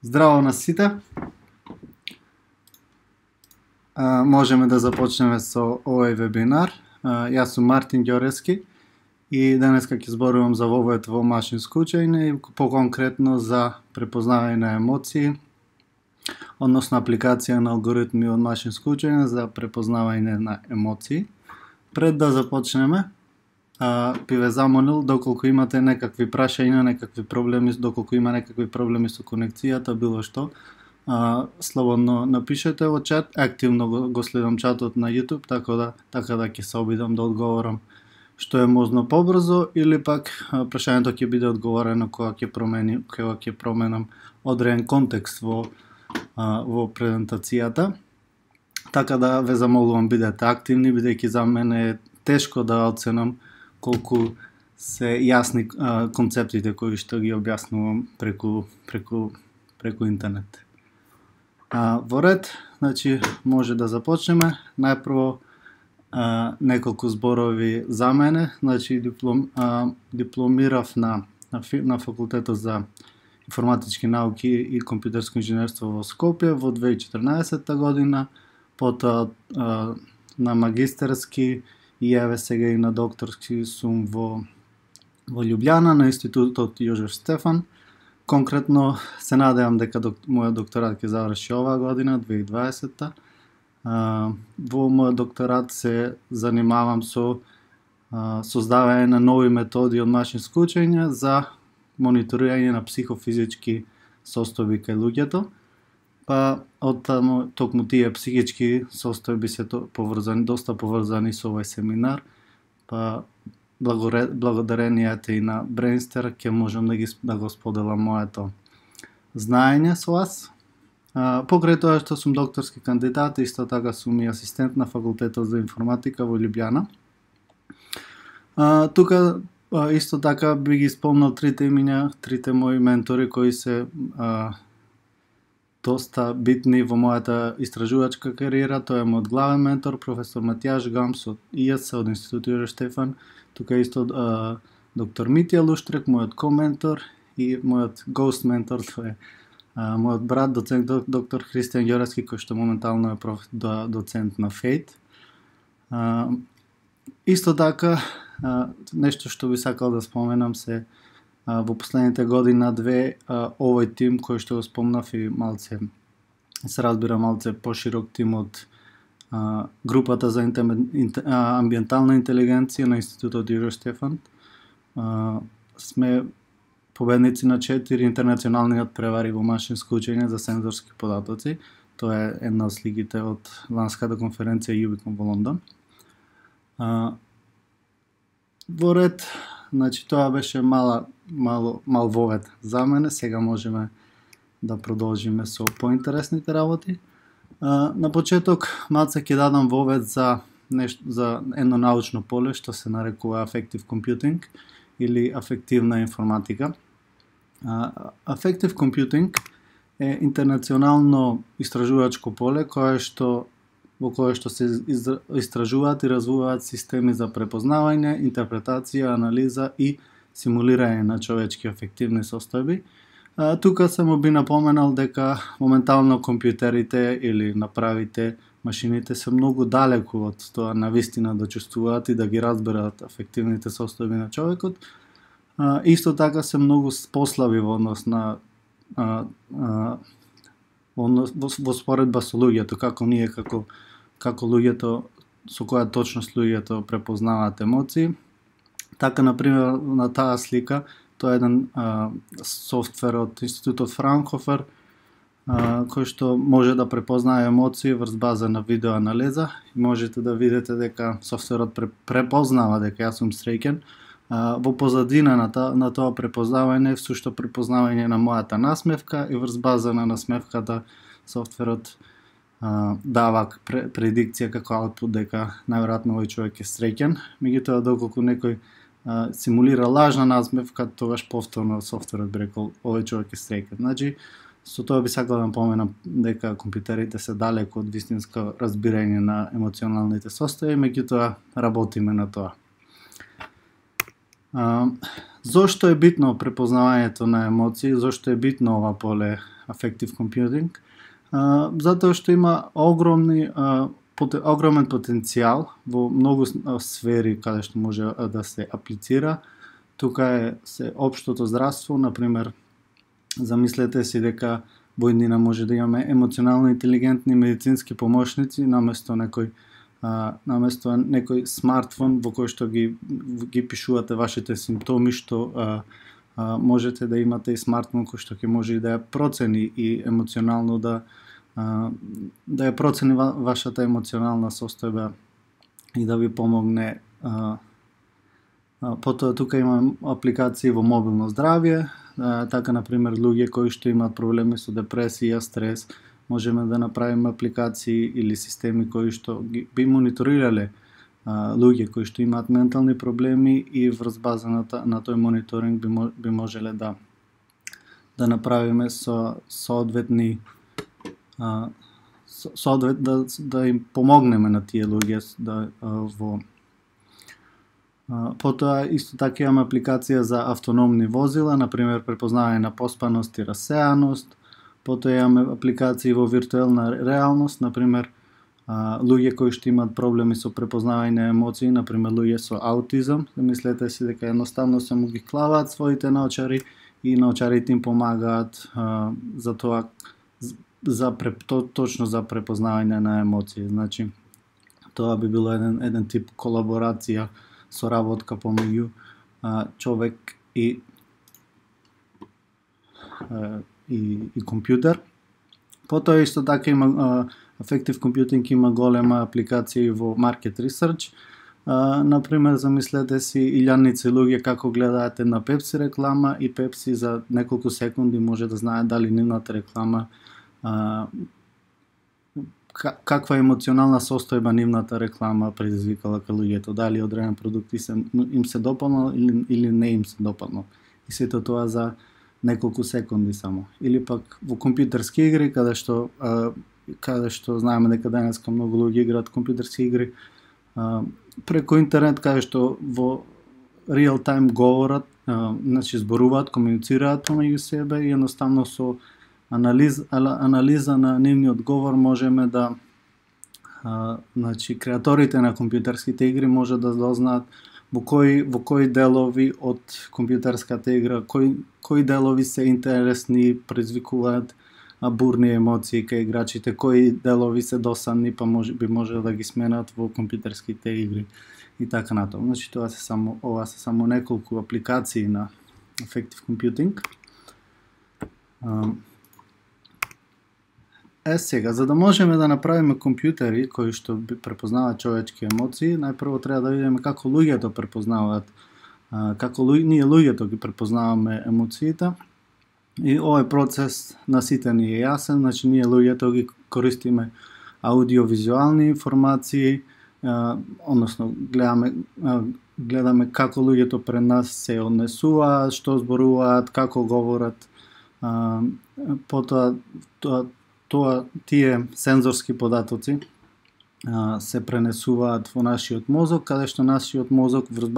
Здраво на сите. Можеме да започнеме со овој вебинар. Јас сум Мартин Ѓорески и денеска ќе зборувам за вовед во машинско учење и поконкретно за препознавање на емоции, односно апликација на алгоритми од машинско учење за препознавање на емоции. Пред да започнеме, би ве замолил доколку имате некакви прашања, некакви проблеми, доколку има некакви проблеми со конекцијата, било што, слободно напишете во чат. Активно го следам чатот на YouTube, така да ќе се обидам да одговорам што е можно побрзо, или пак прашањето ќе биде одговорено кога ќе променам одреден контекст во презентацијата. Така да ве замолувам бидете активни, бидејќи за мене е тешко да оценам колку се јасни концептите кои што ги објаснувам преку интернет. Во ред, значи може да започнеме. Најпрво неколку зборови за мене. Значи дипломирав на факултетот за информатички науки и компјутерско инженерство во Скопје во 2014 година, потоа на магистерски и еве сега и на докторски сум во Љубљана на Институтот Јожеф Стефан. Конкретно се надевам дека мојот докторат ќе заврши оваа година, 2020. Во мојот докторат се занимавам со создавање на нови методи од машинско учење за мониторирање на психофизички состојби кај луѓето. Па од токму тие психички состојби се доста поврзани со овој семинар. Па благодарението и на Brainster ќе можам да го споделам моето знаење со вас. Покрај тоа што сум докторски кандидат, исто така сум и асистент на факултетот за информатика во Љубљана. Тука исто така би ги спомнал трите имиња, трите мои ментори кои се доста битни во мојата истражувачка кариера. Тој е мојот главен ментор, професор Матијаш Гамс од ИС, од Институтот Јожеф Стефан. Тука исто доктор Митја Луштрек, мојот коментор, и мојот гост ментор, тој е мојот брат, доцент доктор Христијан Ѓорески, кој што моментално е доцент на ФЕЙТ. Исто така, нешто што би сакал да споменам се во последните година-две овој тим кој што го спомнав и малце се разбира малце поширок тим од групата за амбиентална интелигенција на Институтот Јожеф Стефан. Сме победници на 4 интернационални надпревари во машинско учење за сензорски податоци. Тоа е една од сликите од ланската конференција Юбикон во Лондон. Во ред, значи тоа беше мал вовед за мене. Сега можеме да продолжиме со поинтересните работи. На почеток малце ќе дадам вовед за едно научно поле што се нарекува Affective Computing или афективна информатика. Affective Computing е интернационално истражувачко поле во кое што се истражуваат и развиваат системи за препознавање, интерпретација, анализа и симулирање на човечки афективни состојби. Тука само би напоменал дека моментално компјутерите или направите, машините се многу далеку од тоа навистина да чувствуваат и да ги разберат афективните состојби на човекот. Исто така се многу послаби во однос на во споредба со луѓето, како ние како луѓето, со која точност луѓето препознаваат емоции. Така, например, на таа слика, тоа е еден софтвер од Институтот Фраунхофер, кој што може да препознае емоции врз база на видеоанализа. И можете да видите дека софтверот препознава дека јас сум среќен. Во позадина на тоа препознавање, сушто препознавање на мојата насмевка, и врз база на насмевката софтверот дава предикција како аутпут дека најверојатно овој човек е среќен. Меѓутоа, доколку некој симулира лажна насмевка, тогаш повторно софтверот би рекол овој човек е среќен. Значи, со тоа би сакал да напоменам дека компјутерите се далеку од вистинско разбирање на емоционалните состојби, меѓутоа работиме на тоа. Зошто е битно препознавањето на емоции? Зошто е битно ова поле Affective Computing? Затоа што има огромен потенцијал во многу сфери каде што може да се аплицира. Тука е општото здравство, например, замислете си дека во иднина може да имаме емоционално интелигентни медицински помошници наместо некој смартфон во кој што ги пишувате вашите симптоми, што можете да имате и смартфон кој што ќе може и да ја процени и емоционално да ја процени вашата емоционална состојба и да ви помогне. Потоа тука имаме апликации во мобилно здравје, така например луѓе кои што имаат проблеми со депресија, стрес, можеме да направиме апликации или системи кои што би мониторирале луѓе кои што имаат ментални проблеми и врз база на тој мониторинг би можеле да направиме соодветни да им помогнеме на тие луѓе во. Потоа исто така имаме апликација за автономни возила, например препознавање на поспаност и рассеаност. Потоа имаме апликации во виртуелна реалност, например луѓе кои што имаат проблеми со препознавање на емоции, например луѓе со аутизам. Мислете си дека едноставно само ги клаваат своите наочари и наочарите им помагаат за тоа точно за препознавање на емоции. Значи тоа би било еден тип колаборација, соработка помеѓу човек и компјутер. Потоа исто така има Affective Computing има голема апликација во Market Research. Например, замислете си илјадници луѓе како гледаат една Pepsi реклама и Pepsi за неколку секунди може да знае дали нивната реклама каква емоционална состојба нивната реклама предизвикала кај луѓето, дали одреден продукт им се допаднал или не им се допаднал. И сето тоа за неколку секунди само. Или пак во компјутерски игри, каде што знаеме дека денеска многу луѓе играат компјутерски игри преку интернет, каде што во реал тајм говорат, значи зборуваат, комуницираат помеѓу себе и едноставно со анализа на нивниот говор можеме да значи креаторите на компјутерските игри може да дознаат во кои делови од компјутерската игра, кои делови се интересни, предизвикуваат бурни емоции кај играчите, кои делови се досадни, па би можело да ги сменат во компјутерските игри и така натаму. Значи ова се само неколку апликации на Affective Computing. Сега, за да можеме да направиме компјутери кои што препознаваат човечки емоции, најпрво треба да видиме како луѓето препознаваат, како ние луѓето ги препознаваме емоциите. И овој процес на сите ни е јасен, значи ние луѓето ги користиме аудиовизуални информации, односно гледаме како луѓето пред нас се однесуваат, што зборуваат, како говорат, потоа тие сензорски податоци се пренесуваат во нашиот мозок, каде што нашиот мозок врз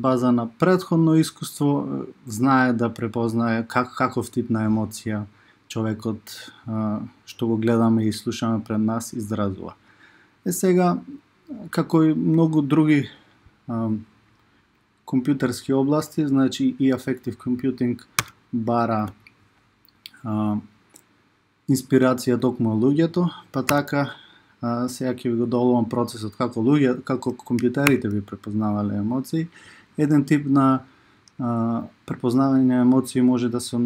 база на претходно искуство знае да препознае каков тип на емоција човекот што го гледаме и слушаме пред нас изразува. Сега, како и многу други компјутерски области, значи и Affective Computing бара инспирација токму од луѓето, па така сега ќе ви го доловам процесот како компјутерите би препознавале емоции. Еден тип на препознавање на емоции може да се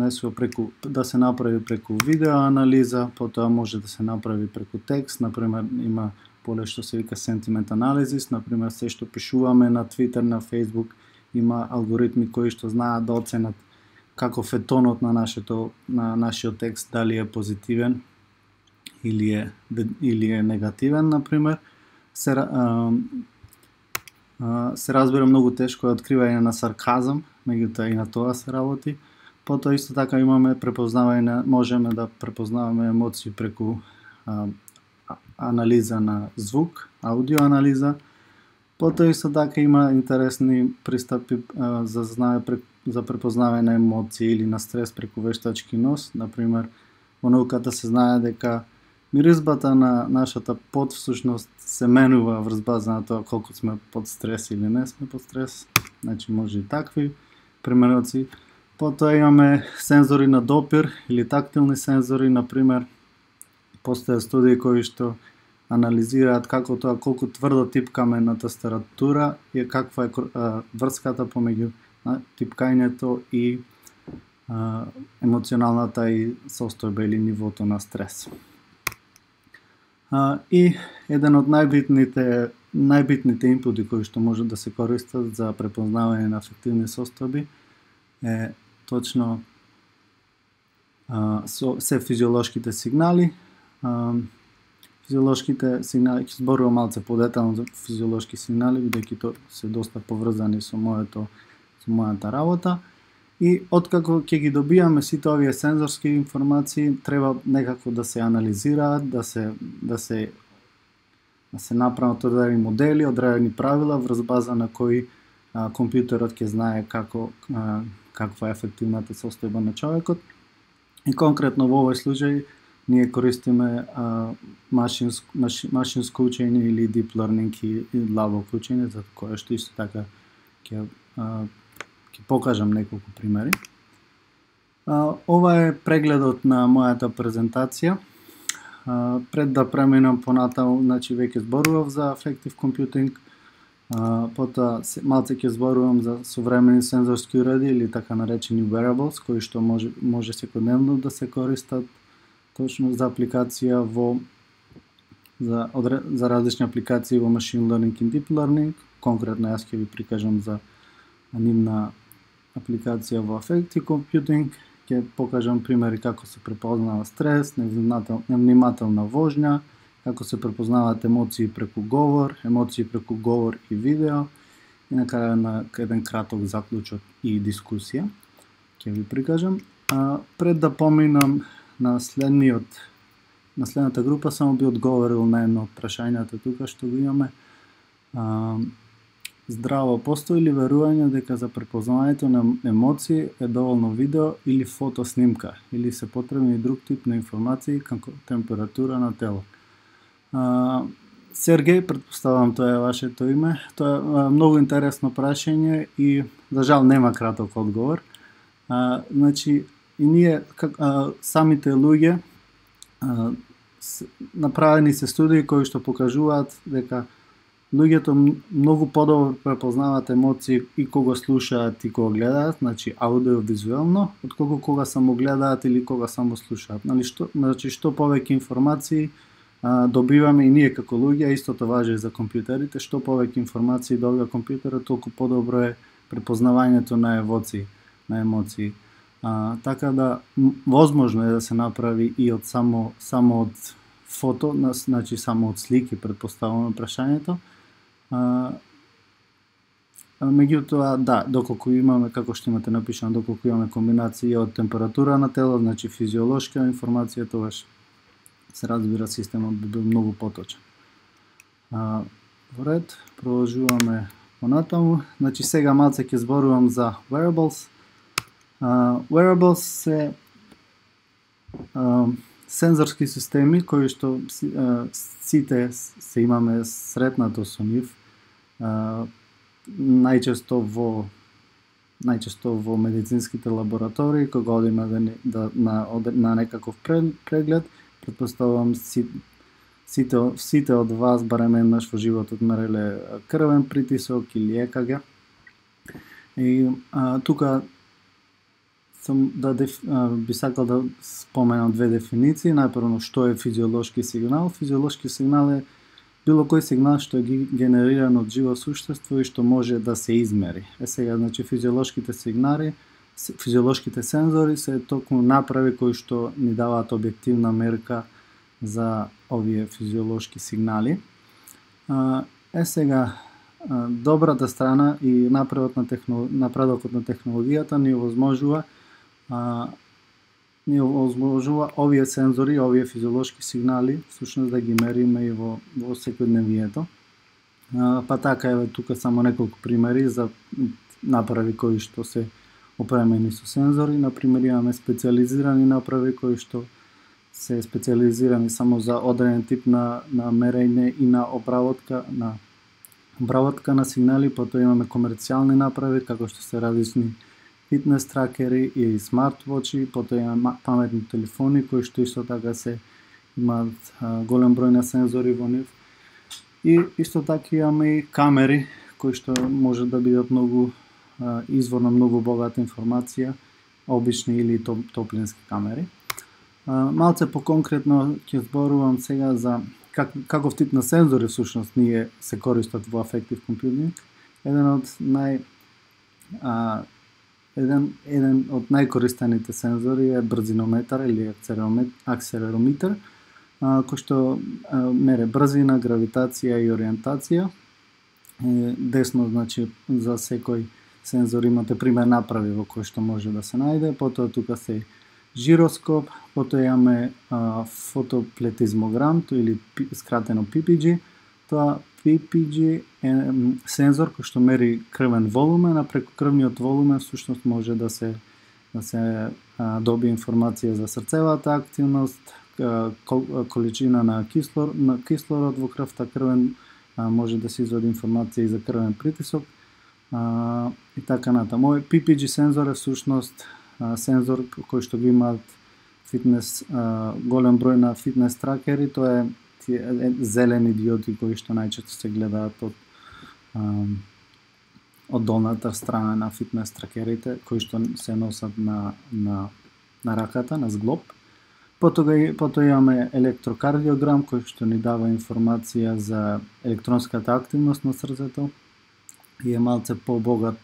да се направи преку видео анализа, потоа може да се направи преку текст, например има поле што се вика sentiment analysis, например се што пишуваме на Twitter, на Facebook, има алгоритми кои што знаат да оценат каков е тонот на нашиот текст, дали е позитивен или е негативен, например. Се разбира многу тешко е откривање на сарказам, меѓутоа и на тоа се работи. Потоа исто така имаме можеме да препознаваме емоции преку анализа на звук, аудио анализа. Потоа исто така има интересни пристапи за препознавање на емоции или на стрес преку вештачки нос. Например, во науката се знае дека миризбата на нашата пот всушност се менува врз база на тоа колку сме под стрес или не сме под стрес. Значи може и такви примероци. Потоа имаме сензори на допир или тактилни сензори, например, постојат студии кои што анализираат како тоа колку тврдо типкаме на тастатура и каква е врската помеѓу типкањето и емоционалната и состојба или нивото на стрес. И еден од најбитните инпути кои што може да се користат за препознавање на афективни состојби е точно се физиолошките сигнали. Физиолошките сигнали, ќе зборувам малце подетално за физиолошки сигнали, бидејќи тоа се доста поврзани со мојата работа. И откако ќе ги добиваме сите овие сензорски информации, треба некако да се анализираат, да се направат одредени модели, одредени правила врз база на кои компјутерот ќе знае каква е ефективната состојба на човекот. И конкретно во овој случај ние користиме машинско учење или deep learning и длабоко учење, за кое што исто така ќе покажам неколку примери. Ова е прегледот на мојата презентација. Пред да преминам понатаму, значи веќе зборував за Affective Computing, потоа малце ќе зборувам за современи сензорски уреди или така наречени wearables, кои што може секојдневно да се користат точно за апликација за различни апликации во machine learning и deep learning. Конкретно јас ќе ви прикажам за нивна апликација во Affective Computing. Ќе покажам примери како се препознава стрес, невнимателна вожња, како се препознаваат емоции преку говор и видео, и на крај на еден краток заклучок и дискусија ќе ви прикажам. Пред да поминам на следната група, само би одговорил на едно од прашањата тука што го имаме. Здраво, постои ли верување дека за препознавањето на емоции е доволно видео или фотоснимка, или се потребни друг тип на информации како температура на тело? Сергеј, претпоставам тоа е вашето име. Тоа е многу интересно прашање и за жал нема краток одговор. Значи, и ние самите луѓе направени се студии кои што покажуваат дека луѓето многу подобро препознаваат емоции и кога слушаат и кога гледаат, значи аудиовизуелно, отколку кога само гледаат или кога само слушаат. Значи што повеќе информации добиваме и ние како луѓе, истото важи и за компјутерите, што повеќе информации добива компјутерот, толку подобро е препознавањето на емоции. Така да возможно е да се направи и од само од фото, значи само од слики, претпоставуваме прашањето. Меѓутоа, да, доколку имаме, како што имате напишано, доколку имаме комбинација од температура на тело, значи физиолошка информација, тогаш се разбира системот би бил многу поточен. Во ред, продолжуваме понатаму. Значи сега малце ќе зборувам за wearables. Wearables се сензорски системи кои што сите се имаме сретнато со нив, најчесто во медицинските лаборатории, кога одиме на некаков преглед. Претпоставувам сите од вас барем еднаш во животот мереле крвен притисок или ЕКГ. И тука би сакал да споменам две дефиниции. Најпрво, што е физиолошки сигнал? Физиолошки сигнал е било кој сигнал што е генериран од живо суштество и што може да се измери. Сега, значи, физиолошките сензори се токму направи кои што ни даваат објективна мерка за овие физиолошки сигнали. Сега, добрата страна и напредокот на технологијата ни овозможува ни овозможува овие сензори, овие физиолошки сигнали, всушност да ги мериме и во секојдневието. Па така еве тука само неколку примери за направи кои што се опремени со сензори. Например, имаме специјализирани направи кои што се специјализирани само за одреден тип на мерење и на обработка на сигнали, потоа имаме комерцијални направи како што се различни фитнес тракери и смартвочи, потоа имаме паметни телефони кои што исто така имаат голем број на сензори во нив. И исто така имаме и камери кои што може да бидат многу извор на многу богата информација, обични или топлински камери. Малце поконкретно ќе зборувам сега за каков тип на сензори всушност ние се користат во Affective Computing. Еден од најкористените сензори е брзинометар или акселерометар, кој што мере брзина, гравитација и ориентација. Десно, значи, за секој сензор имате пример направи во кој што може да се најде, потоа тука се жироскоп, потоа имаме фотоплетизмограм, или скратено PPG. Тоа PPG е сензор кој што мери крвен волумен, а преку крвниот волумен всушност може да се добие информација за срцевата активност, количина на кислород во крвта, крвен, може да се извади информација и за крвен притисок и така натаму. PPG сензор е всушност сензор кој што го имаат фитнес, голем број на фитнес тракери. Тоа е зелени диоди кои што најчесто се гледаат од долната страна на фитнес тракерите, кои што се носат на раката, на зглоб. Потоа имаме електрокардиограм кој што ни дава информација за електронската активност на срцето и е малце побогат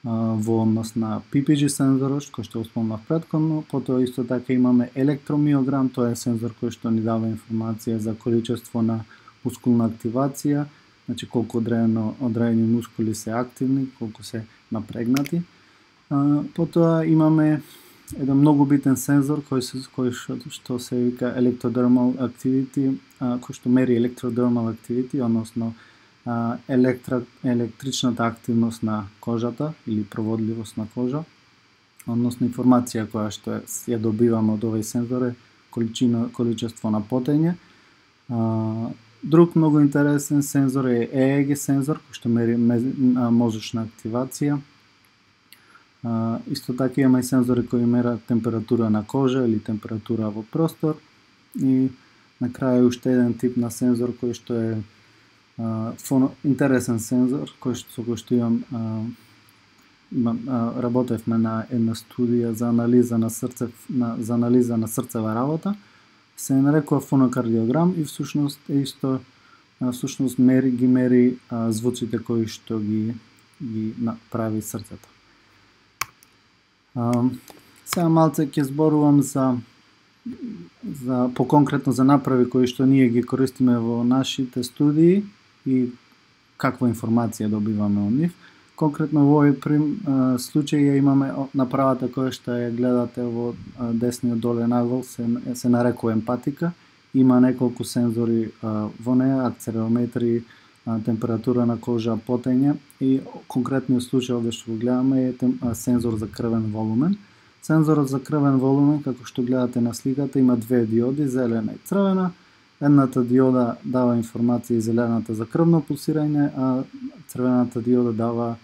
во однос на PPG сензорот, кој што спомнав претходно. Потоа исто така имаме електромиограм, тоа е сензор кој што ни дава информација за количество на мускулна активација, значи колку одредени мускули се активни, колку се напрегнати. Потоа имаме еден многу битен сензор кој што се вика electrodermal activity, кој што мери electrodermal activity, односно електричната активност на кожата или проводливост на кожа, односно информација која што ја добиваме од овој сензор е количество на потење. Друг многу интересен сензор е EEG сензор кој што мери мозочна активација. Исто така има и сензори кои мерат температура на кожа или температура во простор. И на крај уште еден тип на сензор кој што е интересен сензор, кој што работевме на една студија за анализа на срцева работа, се нарекува фонокардиограм и всушност ги мери звуците кои што ги прави срцето. Сега малце ќе зборувам за поконкретно за направи кои што ние ги користиме во нашите студии и каква информација добиваме од нив. Конкретно во овој случај ја имаме направата која што ја гледате во десниот долен агол, се нарекува емпатика. Има неколку сензори во неа, акцелерометри, температура на кожа, потење и конкретниот случај овде што го гледаме е сензор за крвен волумен. Сензорот за крвен волумен, како што гледате на сликата, има две диоди, зелена и црвена. Едната диода дава информација и зелената за крвно пулсирање, а црвената диода дава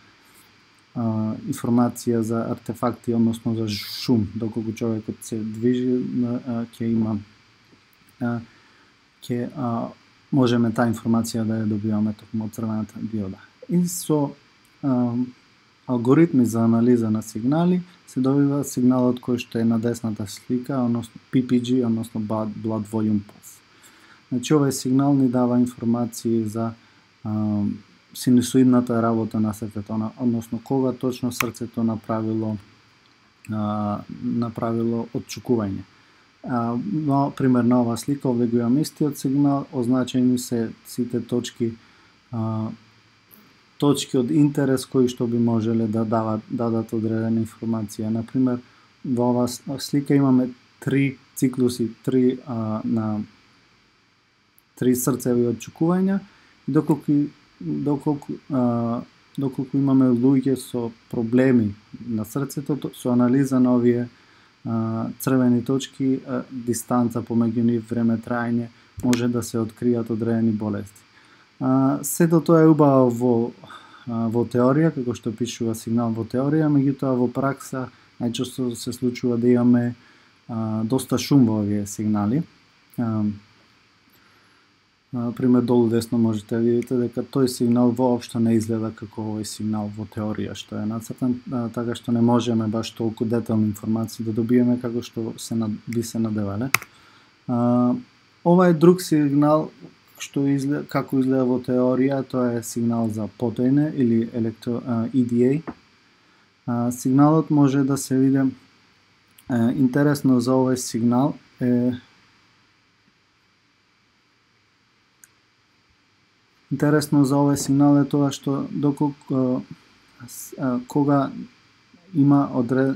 информација за артефакти, односно за шум, доколку човекот се движи, можеме таа информација да ја добиваме токму од црвената диода. И со алгоритми за анализа на сигнали се добива сигналот кој што е на десната слика, односно PPG, односно Blood Volume Pulse. Значи, овој сигнал ни дава информации за синусоидната работа на срцето, односно кога точно срцето направило отчукување. Пример на оваа слика, овде го имам истиот сигнал, означени се сите точки од интерес кои што би можеле да дадат одредена информација. Например, во оваа слика имаме 3 циклуси, 3 срцеви отчекувања, доколку имаме луѓе со проблеми на срцето, со анализа на овие црвени точки, дистанца помеѓу нив, време траење, може да се откријат одредени болести. Сето тоа е убаво во теорија, како што пишува сигнал во теорија, меѓутоа во пракса најчесто се случува да имаме доста шум во овие сигнали. Пример, долу десно можете да видите дека тој сигнал воопшто не изгледа како овој сигнал во теорија што е нацртан, така што не можеме баш толку детални информации да добиеме како што би се надевале. Ова е друг сигнал што како изгледа во теорија, тоа е сигнал за потоење или EDA. Сигналот може да се види. Интересно за овој сигнал е тоа што кога има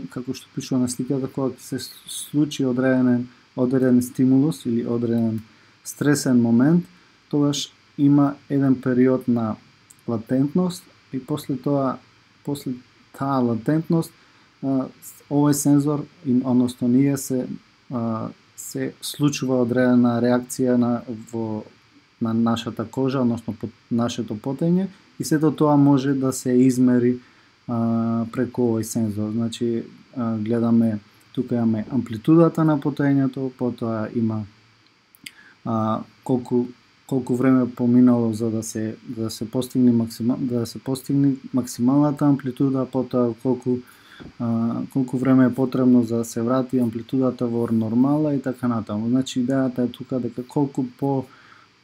како што пишува на сликата, кога се случи одреден стимулус или одреден стресен момент, тогаш има еден период на латентност и после таа латентност овој сензор, односно ние се случува одредена реакција на нашата кожа, односно нашето потење, и сето тоа може да се измери преку овој сензор. Значи, гледаме, тука имаме амплитудата на потењето, потоа има колку време поминало за да се постигне максималната амплитуда, потоа колку време е потребно за да се врати амплитудата во нормала и така натаму. Значи, идејата е тука дека колку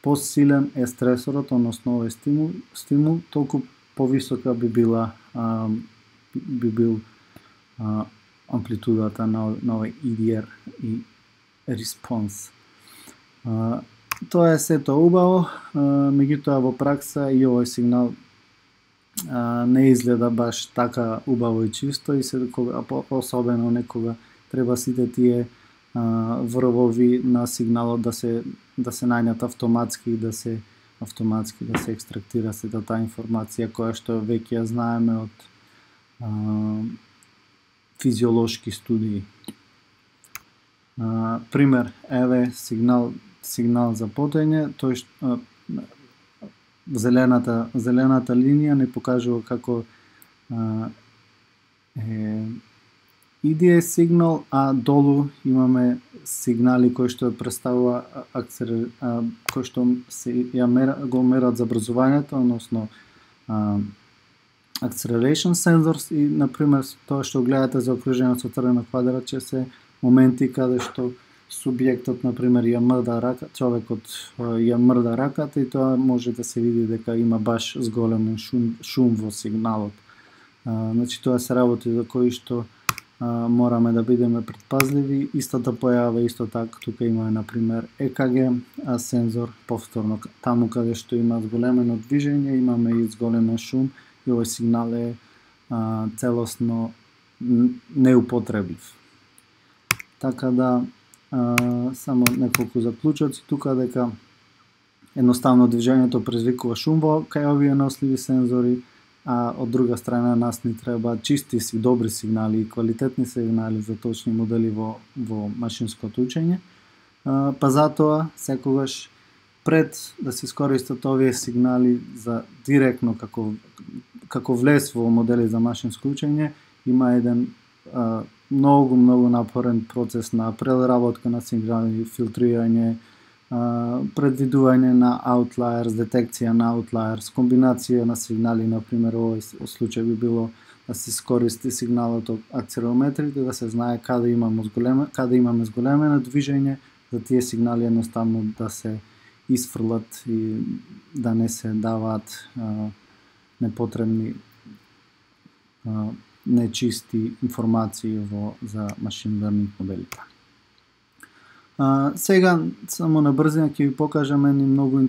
посилен е стресорот, односно овој стимул, толку повисока би бил амплитудата на овој EDR и респонс. Тоа е сето убаво, меѓутоа во пракса и овој сигнал не изгледа баш така убаво и чисто, и особено некога треба сите тие врвови на сигналот да се најдат автоматски и да се екстрактира сета таа информација која што веќе ја знаеме од физиолошки студии. Пример, еве сигнал за потење, тој зелената линија не покажува како EDA сигнал, а долу имаме сигнали кои што представува кои што го мерат забрзувањето, односно acceleration sensors, и на пример тоа што гледате за окружено со црвено квадратче се моменти каде што субјектот, на пример, ја мрда рака, човекот ја мрда раката, и тоа може да се види дека има баш зголемен шум во сигналот. Значи, тоа се работи за кои што мораме да бидеме предпазливи. Истата појава исто така, тука има, на пример, EKG сензор, повторно таму каде што има зголемено движење, имаме и зголемен шум, и овој сигнал е целосно неупотреблив. Така да, само неколку заклучоци тука, дека едноставно движењето предизвикува шум кај овие носливи сензори, а од друга страна нас ни треба чисти добри сигнали и квалитетни сигнали за точни модели во машинското учење. Па затоа секогаш пред да се искористат овие сигнали за директно како влез во модели за машинско учење, има еден многу напорен процес на преработка на сигнали, филтрирање, предвидување на outliers, детекција на outliers, комбинација на сигнали. На пример, овој случај би било да се искористи сигналот од акцелерометрите, да се знае каде имаме зголемено движење, за тие сигнали едноставно да се исфрлат и да не се даваат непотребни нечисти информации за машин лернинг моделите. Сега само на брзина ќе ви покажам едни многу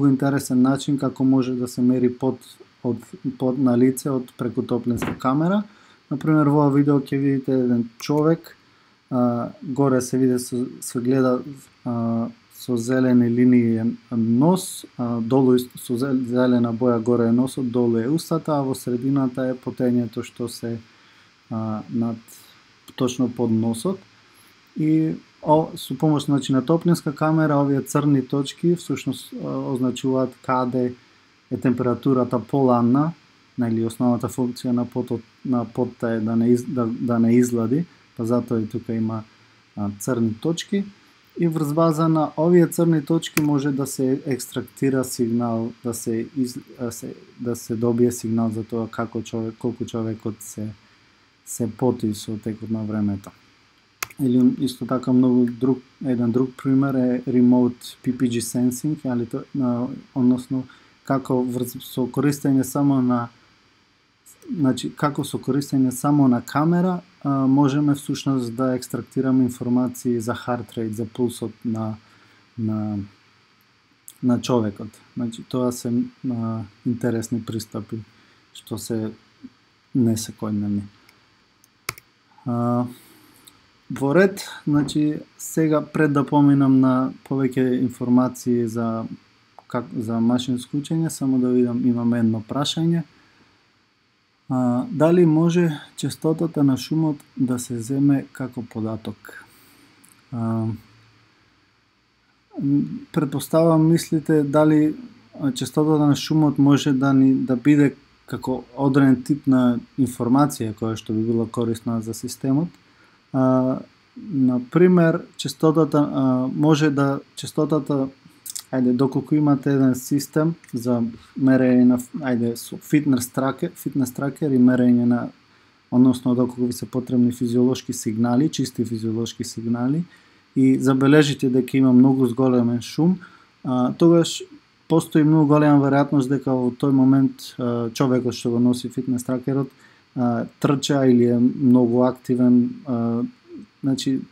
интересен начин како може да се мери под на лице од преку топлинска камера. Например, во ова видео ќе видите еден човек горе се види се гледа со зелени линии нос, долу со зелена боја горе е носот, долу е устата, а во средината е потењето што се над точно под носот. И со помош на топлинска камера овие црни точки всушност означуваат каде е температурата поладна, или основната функција на потта е да не излади, па затоа и тука има црни точки. И врз база на овие црни точки може да се екстрактира сигнал, да се добие сигнал за тоа колку човекот се поти со текот на времето. Или исто така еден друг пример е remote PPG sensing, односно како со користење само на како со користење само на камера можеме всушност да екстрактираме информации за heart rate, за пулсот на човекот. Тоа се интересни пристапи што се не секојдневни. Во ред, сега пред да поминам на повеќе информации за машинско учење, само да видам, имаме едно прашање. Дали може честотата на шумот да се земе како податок? Претпоставам мислите дали честотата на шумот може да биде како одреден тип на информација која што би била корисна за системот. Например, доколку имате еден систем за мерење на фитнес тракер и мерење на, односно доколку ви се потребни физиолошки сигнали, чисти физиолошки сигнали, и забележите дека има многу зголемен шум, тогаш постои многу голема веројатност дека во тој момент човекот што го носи фитнес тракерот трча или е многу активен,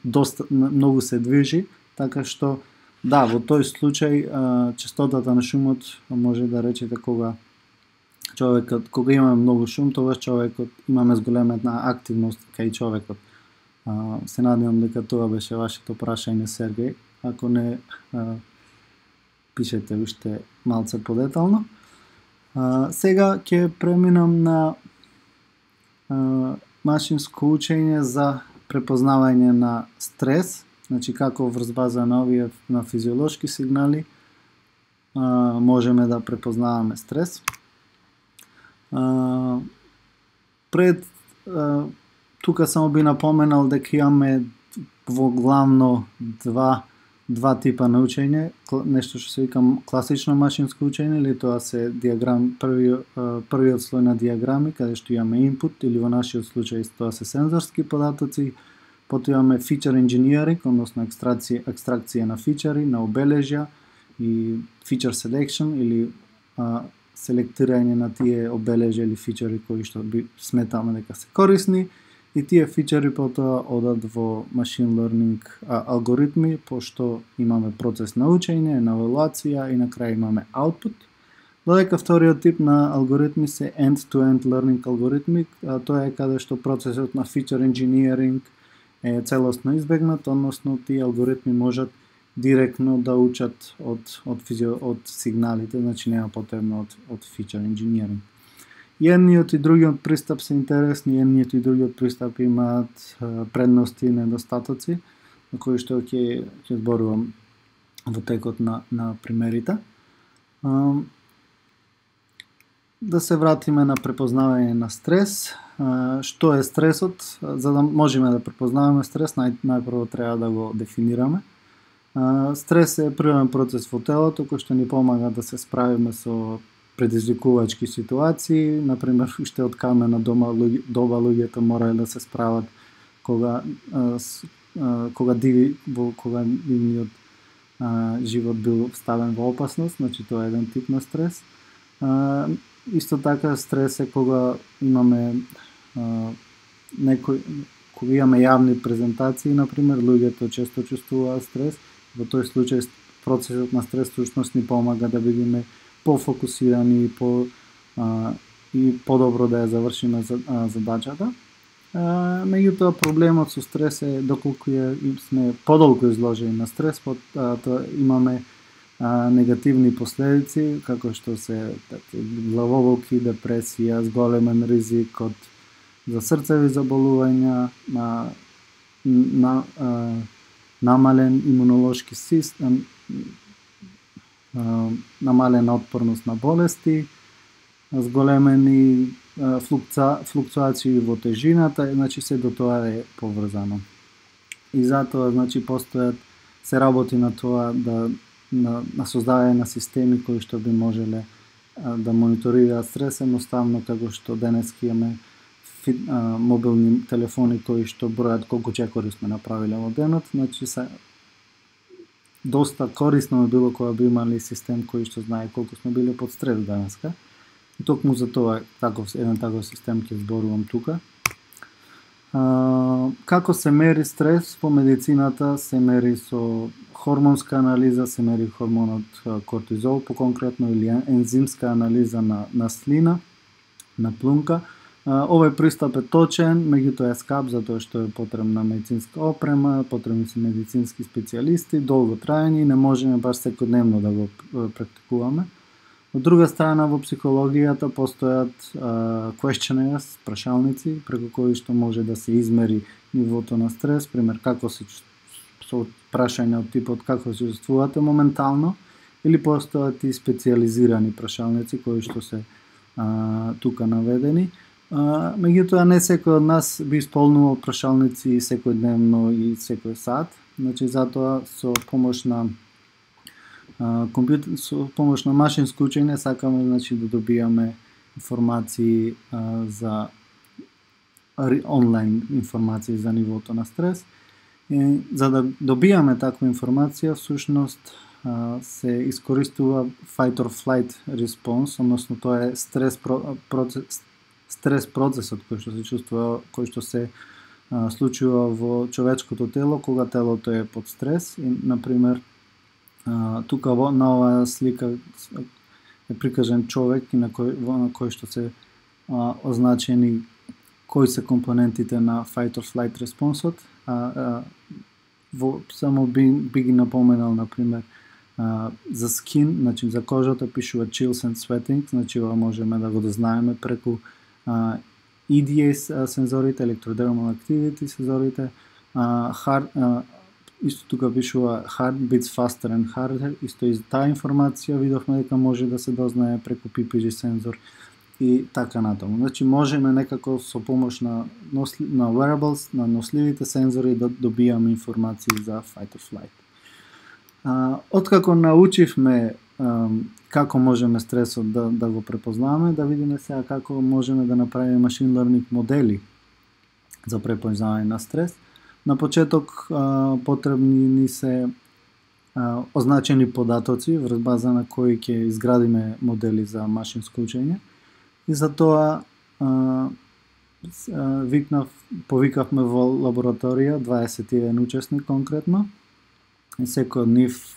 доста многу се движи, така што да, во тој случај честотата на шумот може да речете кога имаме многу шум, тогаш човекот имаме зголемена активност кај човекот. Се надевам дека тоа беше вашето прашање, Сергеј. Ако не, пишете уште малце подетално. Сега ќе преминам на машинско учење за препознавање на стрес, како врз база на овие на физиолошки сигнали можеме да препознаваме стрес. Пред тука само би напоменал дека имаме во главно два типа на учење, нешто што се вика класично машинско учење, или тоа се првиот слој на диаграми, каде што имаме input, или во нашиот случај тоа се сензорски податоци, потоа имаме feature engineering, односно екстракција на фичери, на обележја и feature selection, или селектирање на тие обележја или фичери кои што сметаме дека се корисни, и тие фичери потоа одат во machine learning алгоритми, пошто имаме процес на учење, на евалуација и на крај имаме output. Додека вториот тип на алгоритми се end-to-end learning алгоритми, тоа е каде што процесот на feature engineering е целосно избегнат, односно тие алгоритми можат директно да учат од сигналите, значи нема потребно од feature engineering. И едниот и другиот пристап се интересни, едниот и другиот пристап имаат предности и недостатоци, на кои што ќе зборувам во текот на примерите. Да се вратиме на препознавање на стрес. Што е стресот? За да можеме да препознаваме стрес, најпрво треба да го дефинираме. Стрес е природен процес во телото кој што ни помага да се справиме со предизвикувачки ситуации, например, уште од камена доба луѓето морале да се справат кога нивниот живот бил ставен во опасност, значи тоа е еден тип на стрес. Исто така стрес е кога имаме кога имаме јавни презентации, например, луѓето често чувствуваат стрес. Во тој случај процесот на стрес всушност ни помага да бидеме пофокусирани и подобро да ја завршиме задачата. Меѓутоа проблемот со стрес е доколку сме подолго изложени на стрес, тоа имаме негативни последици, како што се главоболки, депресија, зголемен ризик за срцеви заболувања, намален имунолошки систем, намалена отпорност на болести, зголемени флуктуации во тежината, значи се до тоа е поврзано. И затоа се работи на тоа на создавање на системи кои што би можеле да мониторираат стрес, едноставно како што денеска имаме мобилни телефони кои што бројат колку чекори сме направиле во денот, значи доста корисно било кога би имали систем кој што знае колку сме биле под стрес денеска. И токму за тоа еден таков систем ќе зборувам тука. Како се мери стрес по медицината? Се мери со хормонска анализа, се мери хормонот кортизол по-конкретно, или ензимска анализа на слина, на плунка. Овој пристап е точен, меѓутоа е скап затоа што е потребна медицинска опрема, потребни се медицински специјалисти, долго трајање и не можеме баш секојдневно да го практикуваме. Од друга страна, во психологијата постојат questionnaires, прашалници, преку кои што може да се измери нивото на стрес, пример како се со прашања од типот како се чувствувате моментално, или постојат и специјализирани прашалници кои што се тука наведени. Меѓутоа не секој од нас би исполнувал прашалници секојдневно и секој сат, значи затоа со помош на машинско учење сакаме да добијаме информации за онлайн информации за нивото на стрес. И за да добијаме таква информација, всушност се искористува fight or flight response, односно тоа е стрес процесот кој што се чувствува, кој што се случува во човечкото тело кога телото е под стрес. И, например, тука на оваа слика е прикажан човек и на кој што се означени кои се компонентите на fight or flight респонсот. Само би ги напоменал, например, за skin, значи за кожата пишува chills and sweating, значи ова можеме да го дознаеме преку EDA сензорите, electrodermal activity сензорите, исто тука пишува heart beats faster and harder, исто и таа информација видовме дека може да се дознае преку PPG сензор и така натаму. Значи можеме некако со помош на wearables, на носливите сензори да добијаме информации за fight or flight. Откако научивме како можеме стресот да го препознаваме, да видиме сега како можеме да направиме machine learning модели за препознавање на стрес. На почеток потребни ни се означени податоци врз база на кои ќе изградиме модели за машинско учење. И за тоа повикавме во лабораторија 21 учесник конкретно. И секој од нив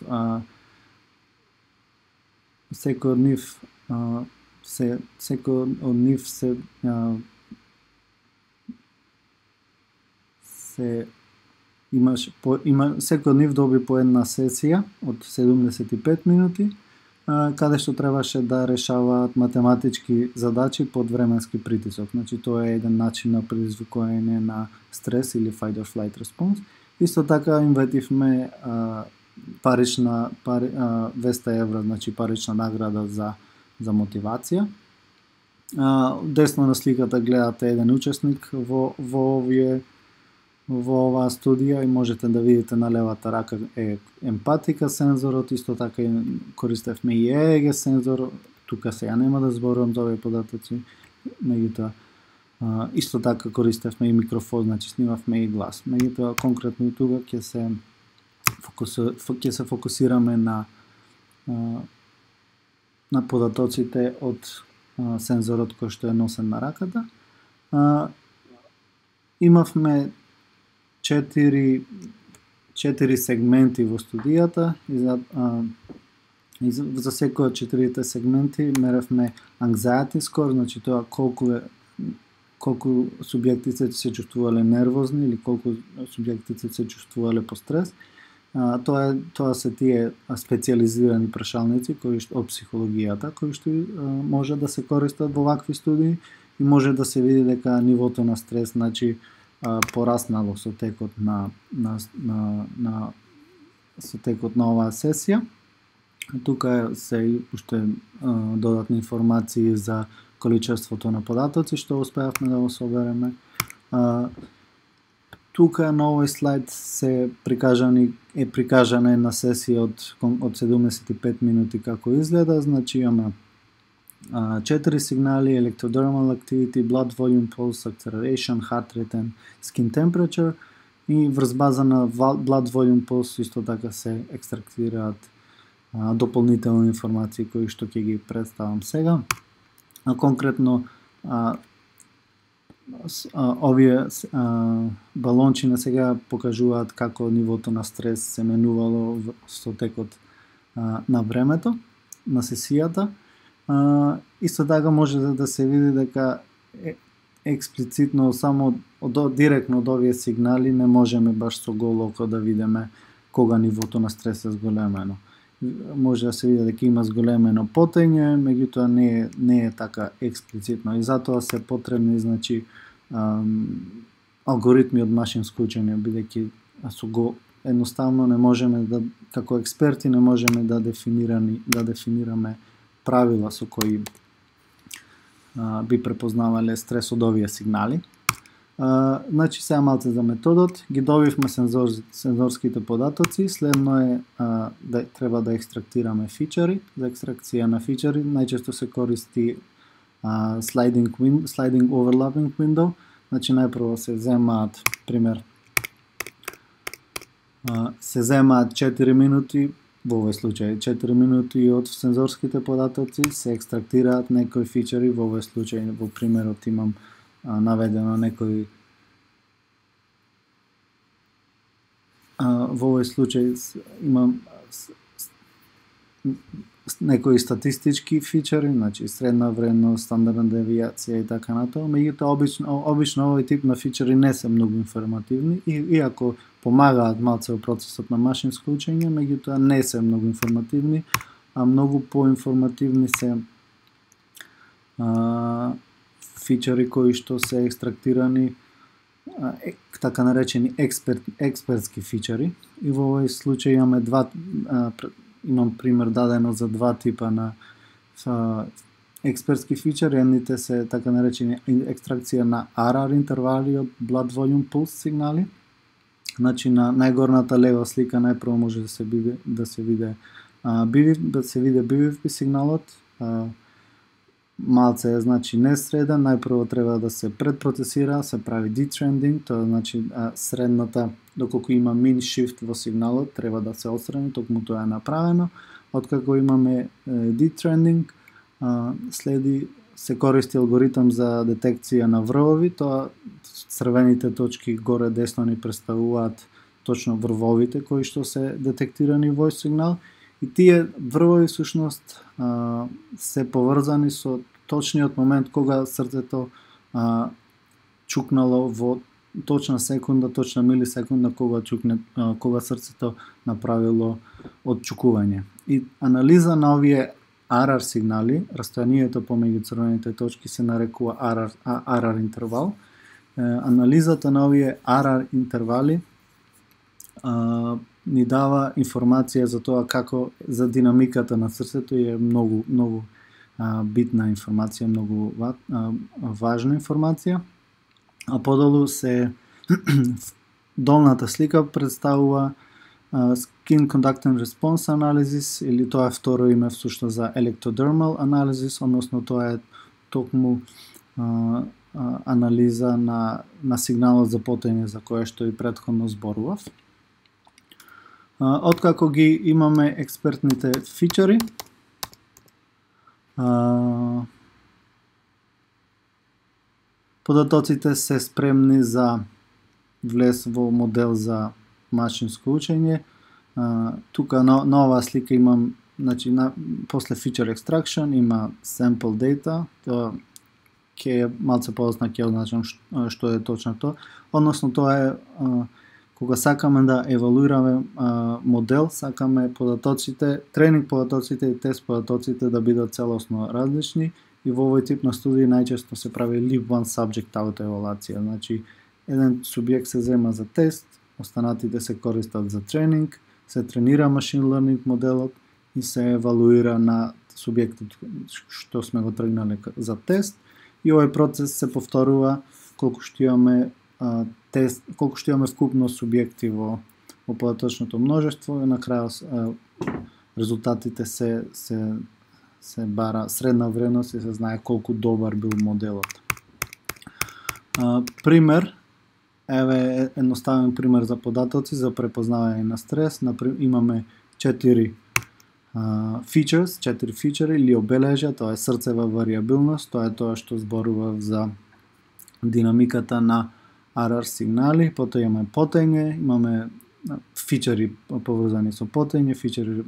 доби по една сесија од 75 минути, каде што требаше да решаваат математички задачи под временски притисок. Значи тоа е еден начин на предизвикување на стрес или fight or flight response. Исто така им ветивме 200 евра, значи парична награда за мотивација. Десно на сликата гледате еден учесник во оваа студија и можете да видите на левата рака е емпатика сензорот, исто така и користевме и EEG сензор, тука сега нема да зборувам за овие податоци, меѓутоа исто така користевме и микрофон, значи снимавме и глас. Меѓутоа конкретно и тука ќе се фокусираме на податоците од сензорот кој што е носен на раката. Имавме 4 сегменти во студијата и за секој од 4 сегменти меревме anxiety score, значи тоа колку е колку субјектите се чувствувале нервозни или колку субјектите се чувствувале по стрес. Тоа се тие специјализирани прашалници кои што од психологијата, кои што може да се користат во вакви студии и може да се види дека нивото на стрес, значи, пораснало со текот на оваа сесија. Тука се уште додатни информации за количеството на податоци што успеавме да го собереме. Тука на овој слайд е прикажана една сесија од 75 минути како изгледа. Значи имаме 4 сигнали: electrodermal activity, blood volume, pulse, acceleration, heart rate and skin temperature, и врз база на blood volume, pulse исто така се екстрактираат дополнителни информации кои што ќе ги представам сега. Конкретно овие балончи на сега покажуваат како нивото на стрес се менувало со текот на времето на сесијата. Исто така може да се види дека експлицитно само директно од овие сигнали не можеме баш со голо око да видиме кога нивото на стрес е зголемено. Може да се види дека има зголемено потење, меѓутоа не е така експлицитно, и затоа се потребни, значи, алгоритми од машинско учење, бидејќи едноставно не можеме да, како експерти, не можеме да дефинираме правила со кои би препознавале стрес од овие сигнали. Значи, сега малце за методот. Ги добивме сензорските податоци, следно е да треба да екстрактираме фичери. За екстракција на фичери најчесто се користи sliding overlapping window. Значи, најпрво се земаат, пример, се земаат 4 минути, во овој случај 4 минути од сензорските податоци, се екстрактираат некои фичери, во овој случај, во примерот имам наведено некои, во овој случај имам некои статистички фичери, значи средна вредност, стандардна девијација и така натаму. Меѓутоа обично овој тип на фичери не се многу информативни, иако помагаат малце во процесот на машинско учење, меѓутоа не се многу информативни, а многу поинформативни се фичери кои што се екстрактирани, така наречени експертски фичери. И во овој случај имам пример дадено за два типа на експертски фичери. Едните се така наречени екстракција на RR интервали од blood volume pulse сигнали. Значи, на најгорната лева слика најпрво може да се види BVP сигналот. Малце е, значи, несреден, најпрво треба да се предпроцесира, се прави detrending, тоа значи средната, доколку има min shift во сигналот, треба да се отстрани, токму тоа е направено. Откако имаме detrending, се користи алгоритам за детекција на врвови, тоа црвените точки горе десно ни представуваат точно врвовите кои што се детектирани во сигнал. И тие врвови всушност се поврзани со точниот момент кога срцето чукнало во точна секунда, точна милисекунда кога срцето направило отчукување. И анализа на овие RR сигнали, растојанието помеѓу црвените точки се нарекува RR интервал. Анализата на овие RR интервали ни дава информација за тоа како за динамиката на срцето, и е многу битна информација, многу важна информација. А подолу се долната слика представува Skin Conductance Response Analysis, или тоа е второ име всушност за Electrodermal Analysis, односно тоа е токму анализа на сигналот за потење за кое што и претходно зборував. Откако ги имаме експертните фичери, податоците се спремни за влез во модел за машинско учење. Тука на оваа слика имам, значи, после feature extraction има sample data, тоа ќе малце подоцна ќе означам што е точно тоа. Односно тоа е кога сакаме да евалуираме модел, сакаме податоците, тренинг податоците и тест податоците да бидат целосно различни и во овој тип на студии најчесто се прави leave one subject out евалуација. Значи еден субјект се зема за тест, останатите се користат за тренинг, се тренира машин learning моделот и се евалуира на субјектот што сме го тргнале за тест и овој процес се повторува колку што имаме тест, колку што имаме вкупно субјекти во податочното множество и на крајот резултатите се бара средна вредност и се знае колку добар бил моделот. Пример, еве едноставен пример за податоци за препознавање на стрес. Имаме 4 features, 4 фичери или обележја, тоа е срцева варијабилност, тоа е тоа што зборува за динамиката на RR сигнали, потоа имаме потење, имаме фичери поврзани со потење, фичери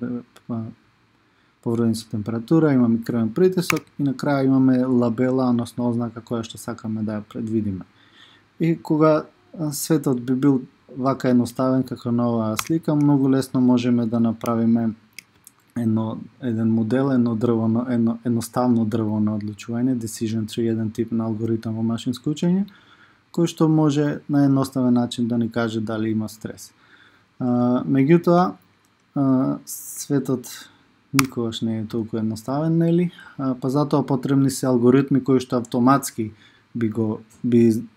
поврзани со температура, имаме крвен притисок и на крај имаме лабела, односно ознака која што сакаме да ја предвидиме. И кога светот би бил вака едноставен како на оваа слика, многу лесно можеме да направиме еден модел, едноставно дрво на одлучување, decision tree, еден тип на алгоритам во машинско учење, кој што може на едноставен начин да ни каже дали има стрес. Меѓутоа, светот никогаш не е толку едноставен, нели? Па затоа потребни се алгоритми кои што автоматски би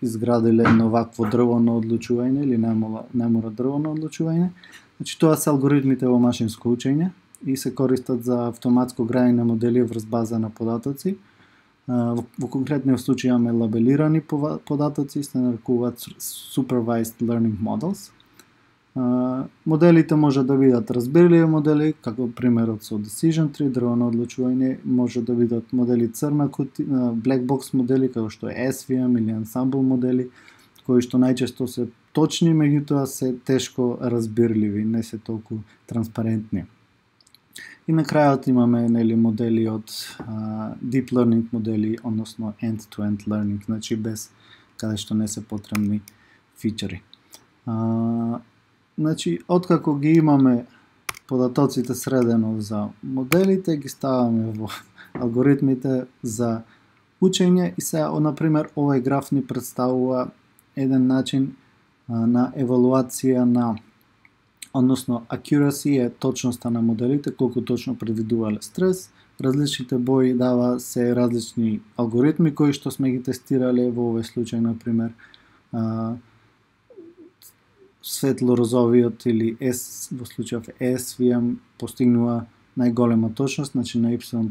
изградиле едно вакво дрво на одлучување или не мора дрво на одлучување. Значи тоа се алгоритмите во машинско учење и се користат за автоматско граење на модели врз база на податоци. Во конкретниот случај имаме лабелирани податоци, се нарекуваат supervised learning models. Моделите може да бидат разбирливи модели, како примерот со decision tree, дрво на одлучување, може да бидат модели црна кутија, black box модели, како што е SVM или ensemble модели, кои што најчесто се точни, меѓутоа се тешко разбирливи, не се толку транспарентни. И на крајот имаме модели од deep learning модели, односно end-to-end learning, значи без каде што не се потребни фичери. Значи, откако ги имаме податоците средено за моделите, ги ставаме во алгоритмите за учење и сега, например, овој граф ни представува еден начин на евалуација на, односно accuracy е точноста на моделите, колку точно предвидувале стрес. Различните бои дава се различни алгоритми кои што сме ги тестирале во овој случај, например, светло-розовиот или во случајов SVM постигнува најголема точност, значи на Y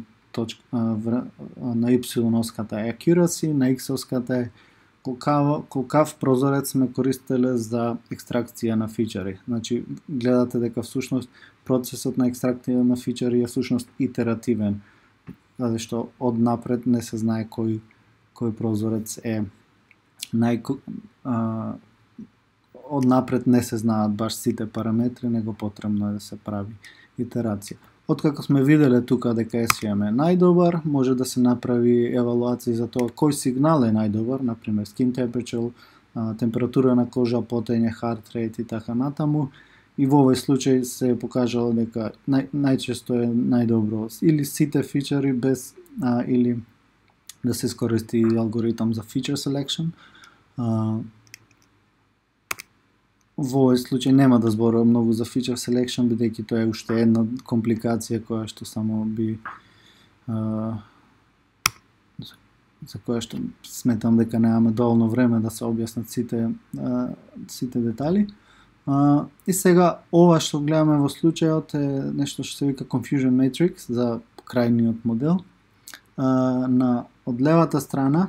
оската е accuracy, на X оската е колкав прозорец сме користеле за екстракција на фичери. Значи, гледате дека всушност процесот на екстракција на фичери е всушност итеративен, затоа што од напред не се знае кој прозорец е од напред не се знаат баш сите параметри, него потребно е да се прави итерација. Откако сме виделе тука дека SVM е најдобар, може да се направи евалуација за тоа кој сигнал е најдобар, например skin temperature, температура на кожа, потење, heart rate и така натаму. И во овој случај се покажало дека најчесто е најдобро или сите фичери без или да се искористи алгоритам за feature selection. Во овој случај нема да зборувам многу за feature selection, бидејќи тоа е уште една компликација која што само би за која што сметам дека немаме доволно време да се објаснат сите детали. И сега ова што гледаме во случајот е нешто што се вика confusion matrix за крајниот модел. Од левата страна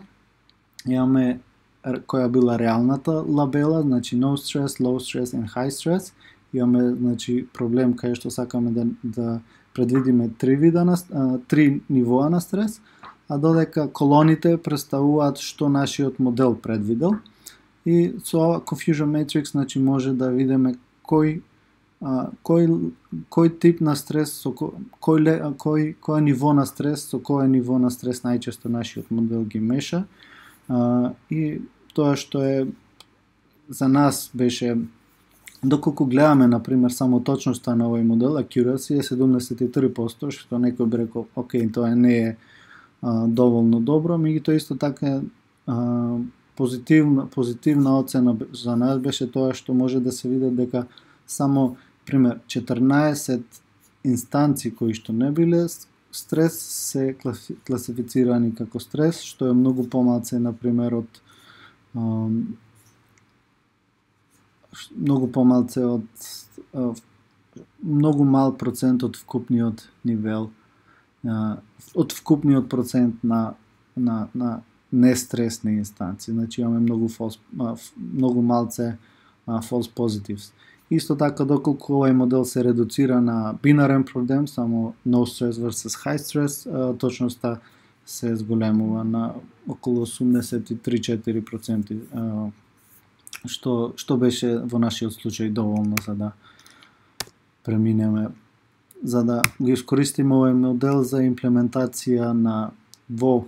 имаме која била реалната лабела, значи no stress, low stress and high stress. Имаме значи проблем кај што сакаме да предвидиме три нивоа на стрес, а додека колоните представуваат што нашиот модел предвидел. И со confusion matrix значи може да видиме кој кој тип на стрес, кој ниво на стрес, со кој ниво на стрес најчесто нашиот модел ги меша, и тоа што е за нас беше, доколку гледаме, например, само точноста на овој модел, accuracy е 73%, што некој би рекол, окей, тоа не е доволно добро, меѓутоа исто така позитивна оцена за нас беше тоа што може да се види дека само, пример, 14 инстанци кои што не биле стрес се класифицирани како стрес, што е многу помалце, например, од многу мал процент од вкупниот нивел, од вкупниот процент на нестресни инстанции. Значи имаме многу малце false positives. Исто така, доколку овој модел се редуцира на бинарен проблем, само no stress versus high stress, точноста се зголемува на околу 83-4%, што беше во нашиот случај доволно за да преминеме, за да го искористиме овој модел за имплементација во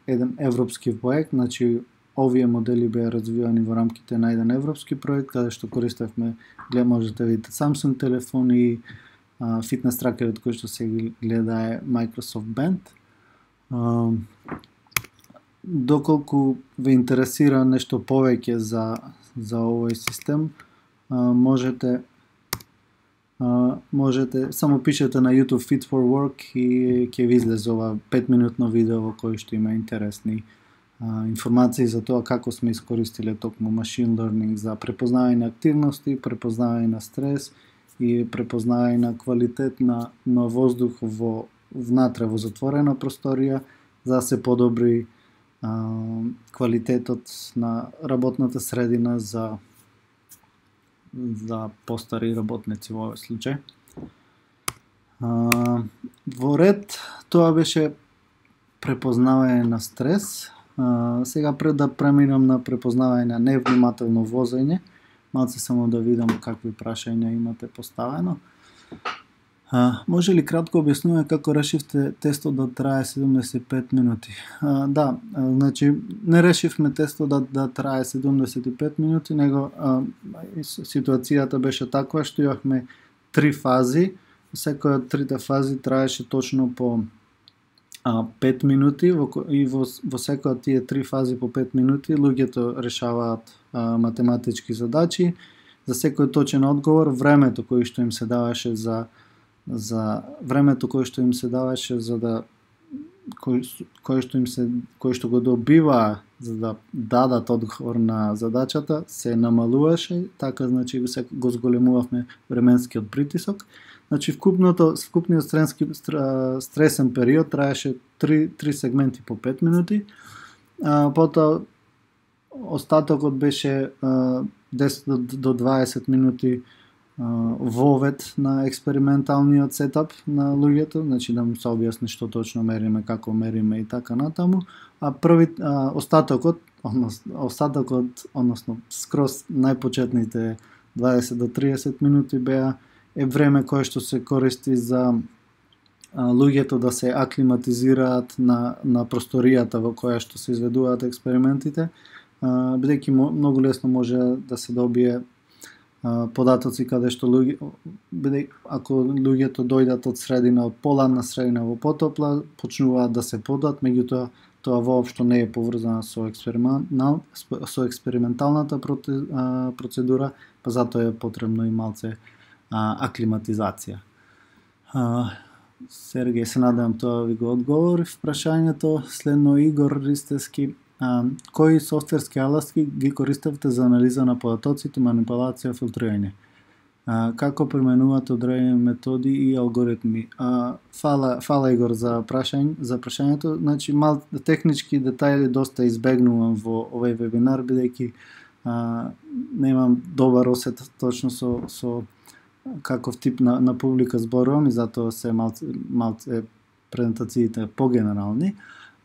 еден европски проект. Значи, овие модели беа развивани во рамките на еден европски проект, каде што користевме, можете да видите, Samsung телефони, фитнес тракерот кој што се гледа е Microsoft Band. Доколку ве интересира нешто повеќе за овој систем, можете само пишете на YouTube Fit for Work и ќе ви излезе ова 5-минутно видео во кој што има интересни информации за тоа како сме искористиле токму machine learning за препознавање на активности, препознавање на стрес и препознавање на квалитет на воздух внатре во затворена просторија, за да се подобри квалитетот на работната средина за постари работници во овој случај. Во ред, тоа беше препознавање на стрес. Сега пред да преминам на препознавање на невнимателно возење, малце само да видам какви прашања имате поставено. Може ли кратко објаснување како решивте тестот да трае 75 минути? Да, значи не решивме тестот да трае 75 минути, него ситуацијата беше таква што имавме 3 фази, секоја од трите фази траеше точно по 5 минути и во секоја од тие 3 фази по 5 минути луѓето решаваат математички задачи. За секој точен одговор, времето кое што им се даваше за да кој што го добива за да дадат одговор на задачата се намалуваше, така значи го зголемувавме временскиот притисок. Значи вкупниот стресен период траеше 3 сегменти по 5 минути. Потоа остатокот беше 10 до 20 минути вовед на експерименталниот сетап на луѓето, значи да му се објасни што точно мериме, како мериме и така натаму, а остатокот, односно скроз најпочетните 20 до 30 минути е време кое што се користи за луѓето да се аклиматизираат на просторијата во која што се изведуваат експериментите, бидејќи многу лесно може да се добие податоци каде што ако луѓето дојдат од средина, од поладна средина во потопла, почнуваат да се подат, меѓутоа тоа воопшто не е поврзано со експерименталната процедура, па затоа е потребно и малце аклиматизација. Сергеј, се надевам тоа ви го одговорив прашањето. Следно Игор Ристевски. Кои софтверски алатки ги користевте за анализа на податоците, манипулација, филтрирање? Како применувате одредени методи и алгоритми? Фала Игор за прашањето. Значи, технички детајли доста избегнувам во овој вебинар, бидејќи немам добар осет точно со каков тип на публика зборувам и затоа се малце презентациите погенерални.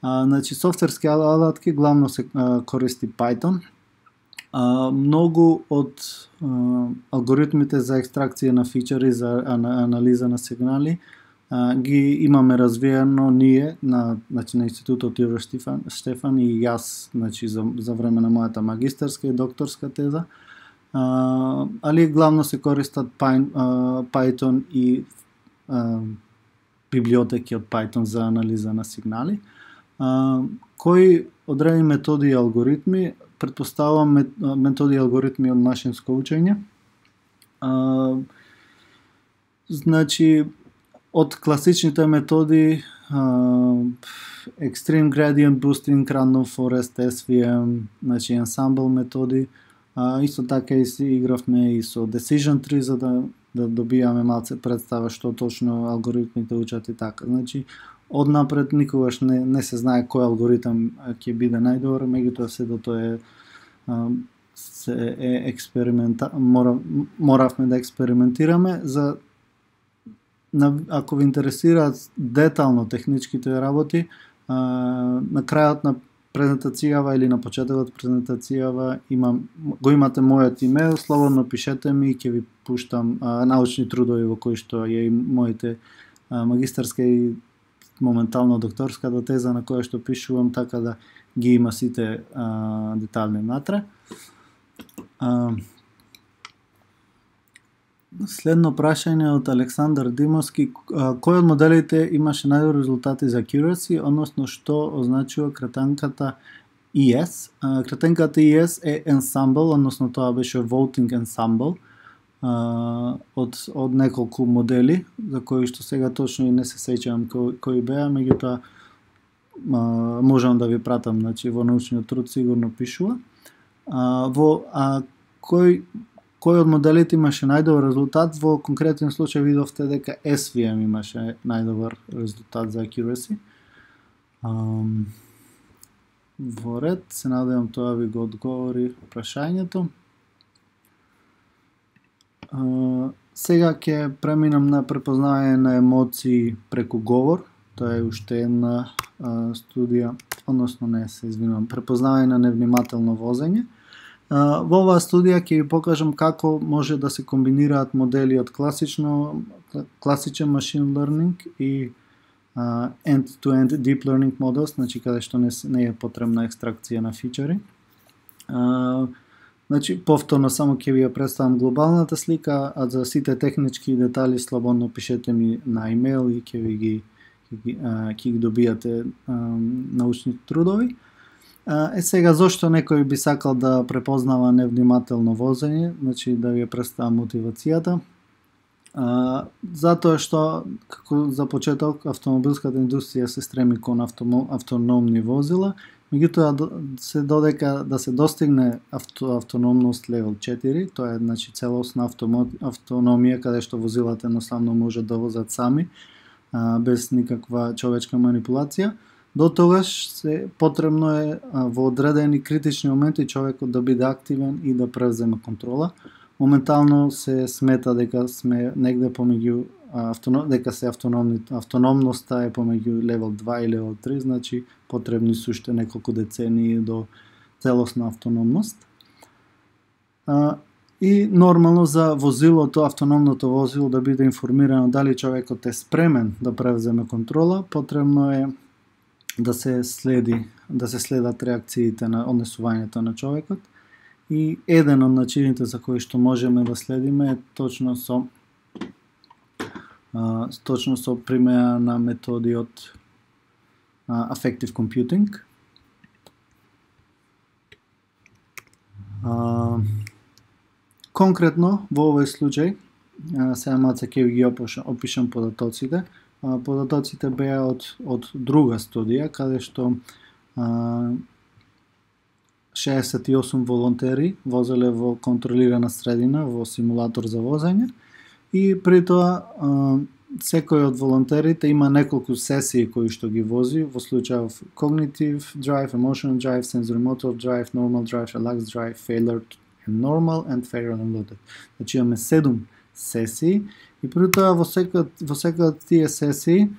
Значи, софтверски алатки главно се користи Python. Многу од алгоритмите за екстракција на фичери, за анализа на сигнали, ги имаме развиено ние на Институтот Ивар Штефан и јас, за време на мојата магистарска и докторска теза. Али главно се користат Python и библиотеки од Python за анализа на сигнали. Кои одредени методи и алгоритми, претпоставувам методи и алгоритми од машинско учење. Од класичните методи Extreme Gradient Boosting, Random Forest, SVM, Ensemble методи. Исто така и си игравме и со Decision Tree за да добијаме малце представа што точно алгоритмите учат и така. Однапред никогаш не се знае кој алгоритам ќе биде најдобар, меѓутоа се до тоа моравме да експериментираме за ако ви интересираат детално техничките работи, на крајот на презентацијава или на почетокот презентацијава го имате мојот имейл, слободно пишете ми и ќе ви пуштам научни трудови во кои што ја и моите магистарска и моментално докторската теза на која што пишувам, така да ги има сите детали натре. Следно прашање од Александар Димовски. Кој од моделите имаше најдобри резултати за accuracy, односно што означува кратенката ES? Кратенката ES е ensemble, односно тоа беше voting ensemble од неколку модели, за кои што сега точно и не се сеќавам кои беа, меѓутоа можам да ви пратам, во научниот труд сигурно пишува. Кој од моделите имаше најдобар резултат? Во конкретен случај видовте дека SVM имаше најдобар резултат за accuracy. Во ред, се надевам тоа ви го одговори прашањето. Сега ќе преминам на препознавање на емоции преку говор. Тоа е уште една студија, односно препознавање на невнимателно возење. Во оваа студија ќе ви покажам како може да се комбинираат модели од класичен machine learning и end-to-end deep learning models, каде што не е потребна екстракција на фичери. Повторно само ќе ви ја представам глобалната слика, а за сите технички детали слободно пишете ми на имейл и ќе ги добијате научни трудови. Сега зошто некој би сакал да препознава невнимателно возење, да ви ја представам мотивацијата. Затоа што, како за почеток, автомобилската индустрија се стреми кон автономни возила, меѓутоа да се достигне автономност левел 4, тоа е целосна автономија каде што возилата едноставно можат да возат сами, без никаква човечка манипулација. До тогаш потребно е во одредени критични моменти човекот да биде активен и да превземе контрола. Моментално се смета дека сме негде помеѓу дека автономноста е помеѓу левел 2 и левел 3, потребни се уште неколку децении до целосна автономност. И нормално за возилото, автономното возило да биде информирано дали човекот е спремен да превземе контрола, потребно е да се следат реакциите на однесувањето на човекот. И еден од начините за кои што можеме да следиме е точно со примена на методи од affective computing. Конкретно во овој случај, сега малце ќе ги опишам податоците. Податоците беа од друга студија, каде што 68 волонтери возеле во контролирана средина во симулатор за возење и при тоа секој од волонтерите има неколку сесии кои што ги вози, во случајов cognitive drive, emotional drive, sensory motor drive, normal drive, relaxed drive, failure and normal and failure and unloaded. Имаме 7 сесии и при тоа во секоја од тие сесии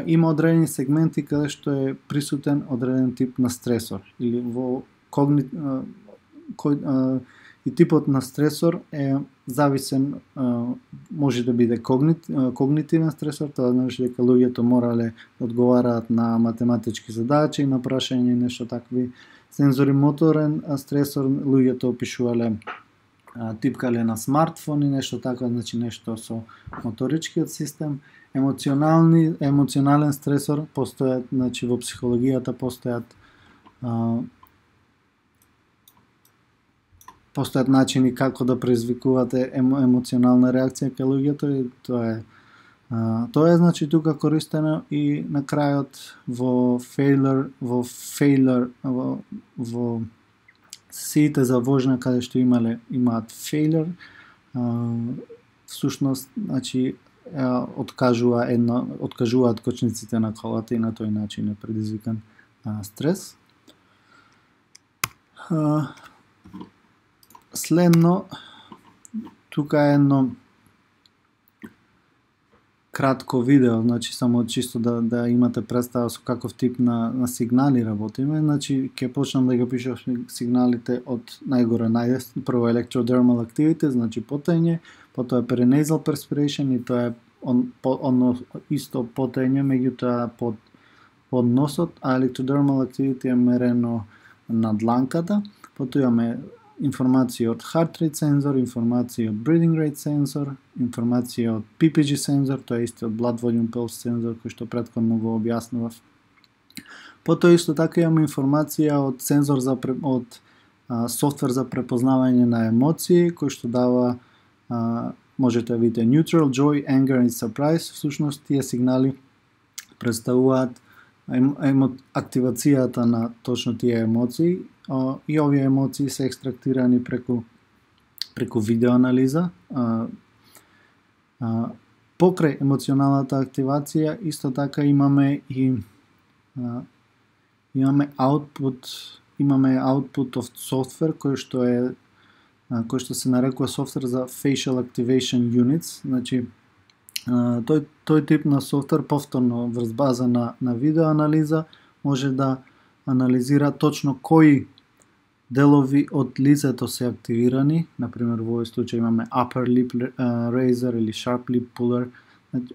има одредени сегменти каде што е присутен одреден тип на стресор или во и типот на стресор е зависен, може да биде когнитивен стресор, тоа значи дека луѓето морале да одговараат на математички задачи, на прашање и нешто такви. Сензори моторен стресор, луѓето опишувале типкале на смартфони, нешто така, значи нешто со моторичкиот систем. Емоционален стресор постојат, значи во психологијата постојат начини како да предизвикувате емоционална реакција кај луѓето и тоа е значи тука користено и на крајот во сите за вожна каде што имаат failure, всушност значи откажуваат кочниците на колата и на тој начин е предизвикан стрес. Следно, тука е едно кратко видео, значи само чисто да имате представа со каков тип на сигнали работиме. Значи ќе почнам да ги пишам сигналите од најгоре најдесни. Прво electrodermal activity, значи потење, потоа perinasal perspiration и тоа е исто потење, меѓутоа под носот, а electrodermal activity е мерено на дланката. Потоа имаме информација од heart rate сензор, информација од breathing rate сензор, информација од PPG сензор, тоа е исто од blood volume pulse сензор кој што претходно го објаснував. Потоа исто така имаме информација од сензор од софтвер за препознавање на емоции кој што дава можете да видите neutral, joy, anger и surprise. Всушност тие сигнали представуваат активацијата на точно тие емоции и овие емоции се екстрактирани преку видеоанализа. Покрај емоционалната активација исто така имаме output of software кој што се нарекува софтвер за facial activation units. Значи тој тип на софтвер повторно врз база на видеоанализа може да анализира точно кои делови од лицето се активирани. Например, во овој случај имаме upper lip raiser или sharp lip puller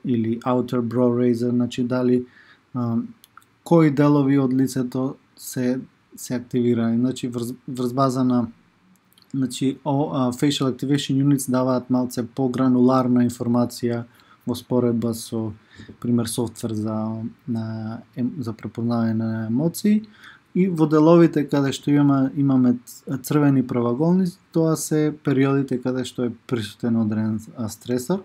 или outer brow raiser, значи дали кои делови од лицето се активирани. Значи врз база на facial activation units даваат малце погрануларна информација во споредба со пример софтвер за препознавање на емоции. И во деловите каде што имаме црвени правоаголници, тоа се периодите каде што е присутен одреден стресор.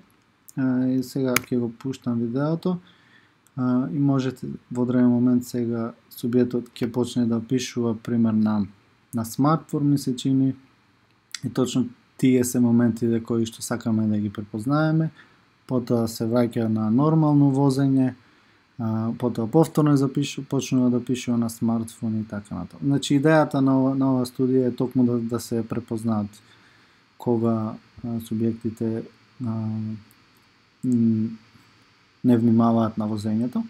И сега ќе го пуштам видеото и можете во одреден момент сега субјектот ќе почне да пишува пример на смартфон, ми се чини, и точно тие се моментите кои што сакаме да ги препознаеме. Потоа се враќа на нормално возење, потоа повторно почнува да пишува на смартфон и така натаму. Значи идејата на оваа студија е токму да се препознаат кога субјектите не внимаваат на возењето.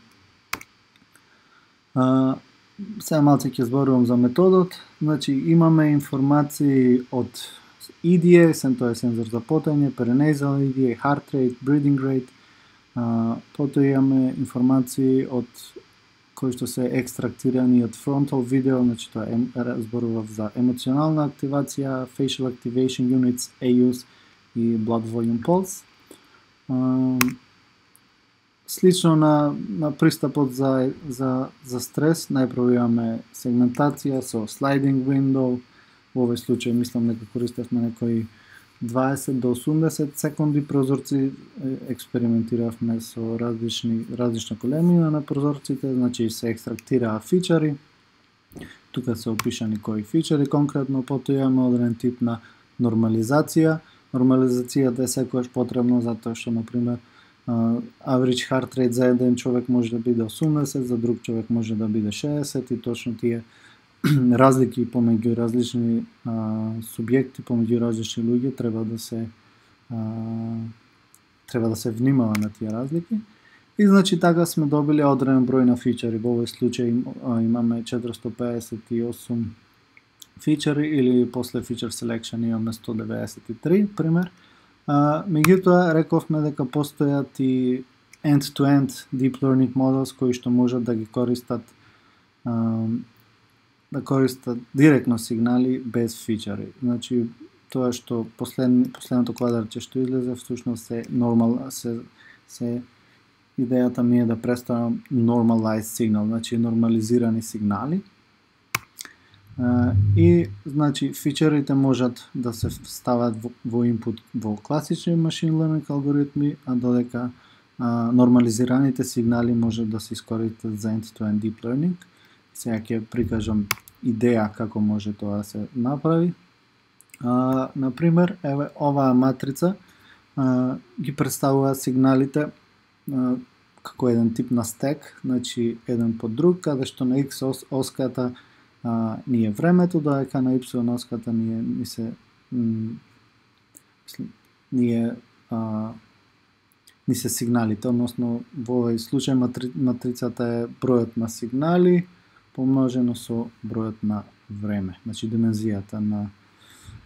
Сега малце ќе зборувам за методот. Значи имаме информации од EDA, тоа е сензор за потење, perinasal EDA, heart rate, breathing rate. Потоа имаме информации од кои што се екстрактирани од frontal video, значи тоа зборував за емоционална активација, facial activation units, AUs и blood volume pulse. Слично на пристапот за стрес, најпрво имаме сегментација со sliding window. Во овој случај мислам дека користевме некои 20 до 80 секунди прозорци, експериментиравме со различна големина на прозорците, значи се екстрактираа фичери. Тука се опишани кои фичери конкретно, потоа имаме одреден тип на нормализација. Нормализацијата е секогаш потребно затоа што, например, average heart rate за еден човек може да биде 80, за друг човек може да биде 60 и точно тие разлики помеѓу различни субјекти, помеѓу различни луѓе треба да се внимава на тие разлики. И значи така сме добили одреден број на фичери. Во овој случај имаме 458 feature или после feature selection имаме 193 пример. Меѓутоа рековме дека постојат и end-to-end deep learning models кои што можат да ги користат директно сигнали без фичери. Значи тоа што последното квадратче што излезе всушност се идејата ми е да представам normalized signal, значи нормализирани сигнали. И значи фичерите можат да се стават во input во класични machine learning алгоритми, а додека нормализираните сигнали може да се искористат за end-to-end deep learning. Сега ќе прикажам идеја како може тоа да се направи. Например, еве оваа матрица ги представува сигналите како еден тип на стек, значи еден по друг, каде што на X оската ни е времето, додека на Y оската ни се сигналите, односно во овој случај матрицата е бројот на сигнали помножено со бројот на време, значи димензијата на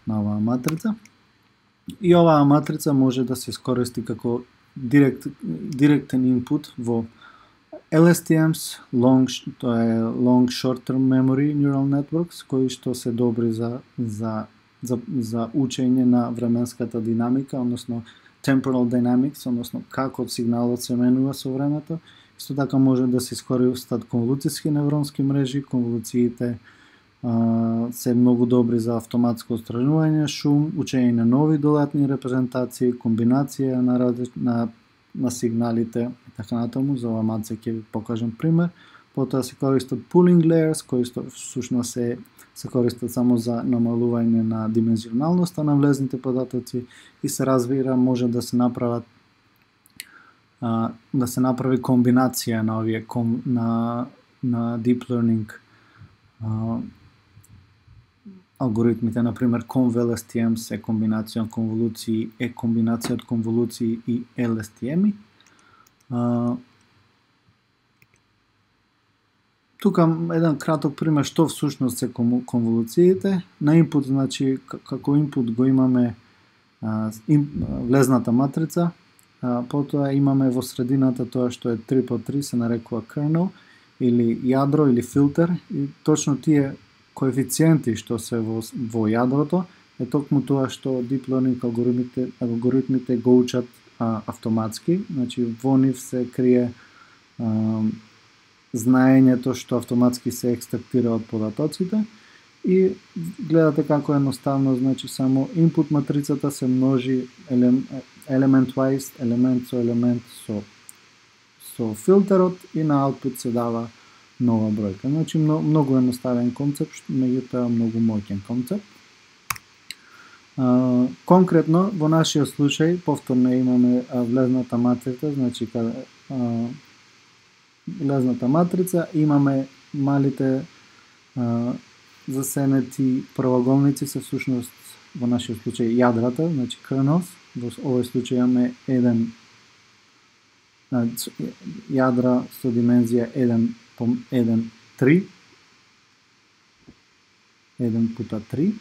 оваа матрица. И оваа матрица може да се искористи како директен инпут во LSTMs, тоа е Long Short-Term Memory Neural Networks, кои што се добри за учење на временската динамика, односно temporal dynamics, односно како сигналот се менува со времето. Исто така може да се искористат конволуцијски невронски мрежи. Конволуциите се многу добри за автоматско отстранување шум, учење на нови додатни репрезентации, комбинација на сигналите и така натаму. За ова маце ќе ви покажам пример. Потоа се користат pooling layers, кои всушност се користат само за намалување на димензионалноста на влезните податоци и се разбира може да се направи комбинација на овие на deep learning алгоритмите, например conv-LSTMs е комбинација од конволуции, комбинација од конволуции и LSTM-и. Тука еден краток пример што всушност се конволуциите. На input, значи како input го имаме влезната матрица, потоа имаме во средината тоа што е 3x3 се нарекува kernel или јадро или филтер, и точно тие коефициенти што се во јадрото е токму тоа што deep learning алгоритмите го учат автоматски, значи во нив се крие знаењето што автоматски се екстрактира од податоците и гледате како едноставно, значи само input матрицата се множи element wise, елемент со елемент со филтерот и на output се дава нова бројка. Значи многу едноставен концепт, меѓутоа многу моќен концепт. Конкретно во нашиот случај повторно имаме влезната матрица, значи влезната матрица, имаме малите засенети правоаголници се всушност во нашиот случај јадрата, значи kernels. Во овој случај имаме еден јадра со димензија 1 пута 3.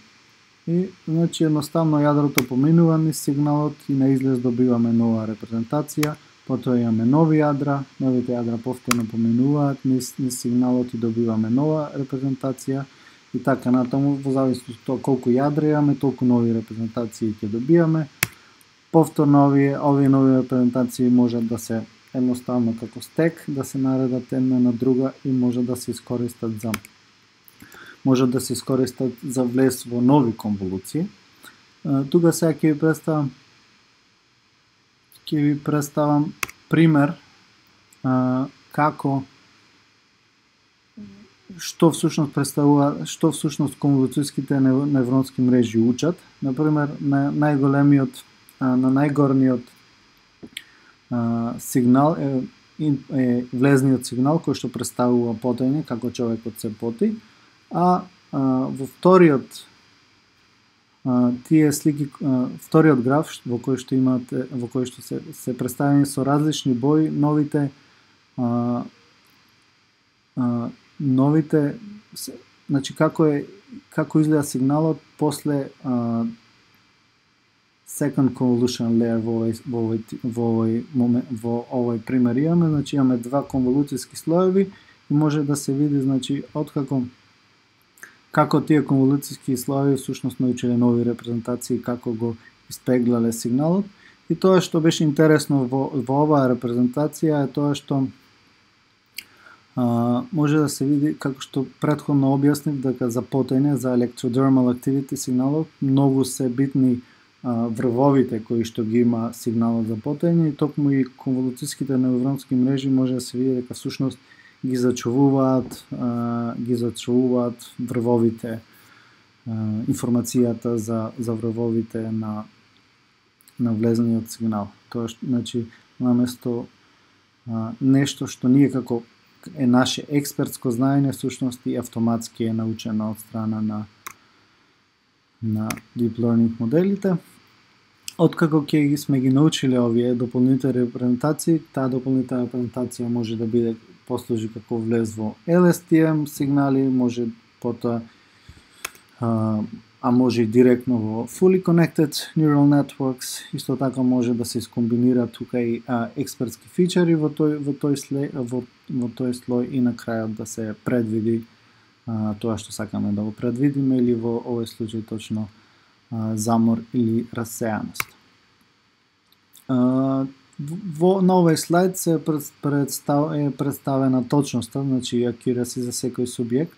И значи едноставно јадрото поминува низ сигналот и на излез добиваме нова репрезентација. Потоа имаме нови јадра, новите јадра повторно поминуваат низ сигналот и добиваме нова репрезентација. И така натаму, во зависност од тоа колку јадра имаме, толку нови репрезентации ќе добиваме. Повторно овие нови репрезентации можат да се едноставно како стек, да се наредат една на друга и може да се искористат за влез во нови конволуции. Тука сега ќе ви представам пример како што всушност конволуцијските невронски мрежи учат. Например, на најгорниот сигнал е влезниот сигнал кој што представува потење, како човекот се поти, а во вториот тие слики, вториот граф во кој што се представени со различни бои значи како изгледа сигналот после second convolution layer во овој пример имаме, значи имаме два конволуцијски слоеви и може да се види, значи, како тие конволуцијски слоеви всушност научиле нови репрезентации, како го испеглале сигналот. И тоа што беше интересно во оваа репрезентација е тоа што може да се види, како што претходно објаснив, дека за потење, за electrodermal activity сигналот, многу се битни врвовите кои што ги има сигналот за потење и токму и конволуцијските невронски мрежи може да се види дека всушност ги зачувуваат врвовите, информацијата за врвовите на влезниот сигнал. Тоа значи наместо нешто што ние како е наше експертско знаење, всушност и автоматски е научено од страна на deep learning моделите. Откако ќе сме ги научиле овие дополнителни репрезентации, таа дополнителна репрезентација може да биде послужи како влез во LSTM сигнали, може потоа може и директно во fully connected neural networks, исто така може да се искомбинира тука и експертски фичери во тој слој и на крајот да се предвиди тоа што сакаме да го предвидиме или во овој случај точно замор или расеаност. На овој слайд се представена точноста, значи accuracy за секој субјект.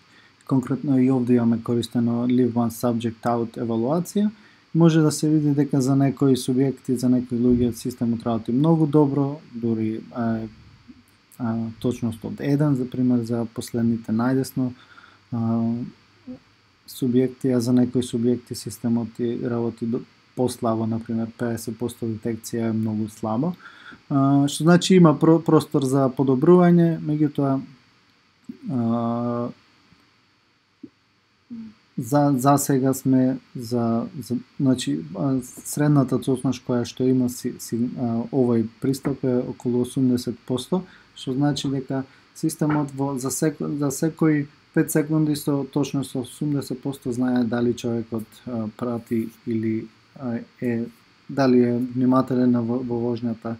Конкретно и овде имаме користено leave one subject out евалуација. Може да се види дека за некои субјекти, за некои луѓе системот работи многу добро, дури точност од 1, за пример за последните најдесно субјекти, а за некои субјекти системот работи послабо, например 50% детекција е многу слабо. Што значи има простор за подобрување, меѓутоа за сега сме значи средната точност која што има овој пристап е околу 80%, што значи дека системот за секои 5 секунди со точност 80% знае дали човекот прати или дали е внимателен во вожњата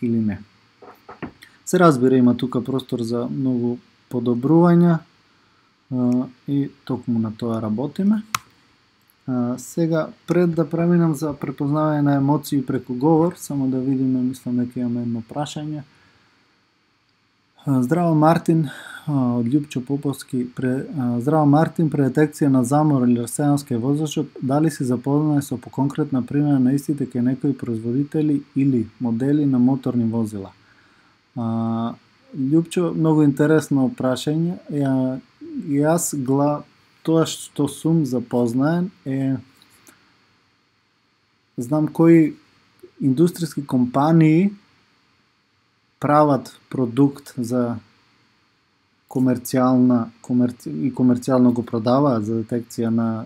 или не. Се разбира, има тука простор за многу подобрувања и токму на тоа работиме. Сега, пред да преминам за препознавање на емоции преку говор, само да видиме, мислам дека имаме едно прашање. Здраво Мартин, од Љупчо Поповски. Здраво Мартин, при детекција на замор или расеаност кај возачот, дали си запознае со поконкретна примера на истите кај некои производители или модели на моторни возила? Љупчо, многу интересно прашање. И јас тоа што сум запознаен е знам кои индустријски компании прават продукт за комерцијално го продаваат за детекција на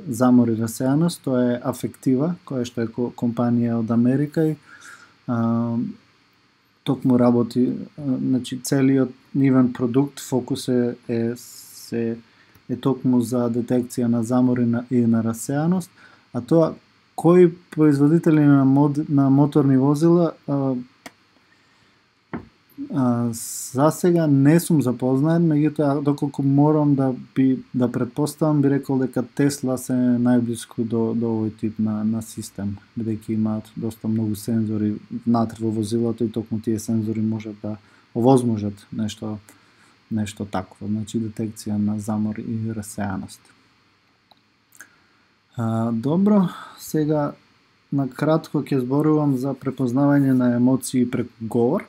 замор и расеаност. Тоа е Афектива, која што е компанија од Америка и токму работи, значи целиот нивен продукт фокус е токму за детекција на замор и на расеаност, а тоа кои производители на моторни возила за сега не сум запознаен, меѓутоа доколку морам да претпоставам, би рекол дека Тесла се најблиску до овој тип на систем, бидејќи имаат доста многу сензори внатре во возилото и токму тие сензори можат да овозможат нешто такво, значи детекција на замор и расеаност. Добро, сега на кратко ќе зборувам за препознавање на емоции преку говор.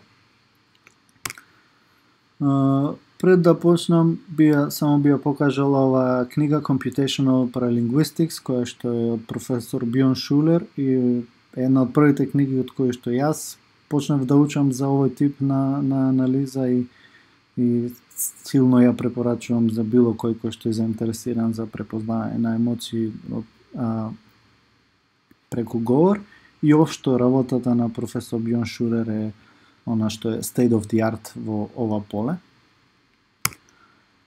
Пред да почнам, само би ја покажал ова книга Computational Paralinguistics, која што е од професор Бјорн Шулер и една од првите книги од кои што јас почнав да учам за овој тип на анализа и силно ја препорачувам за било кој што е заинтересиран за препознавање на емоции преку говор. И општо работата на професор Бјорн Шулер е она што е state of the art во ова поле.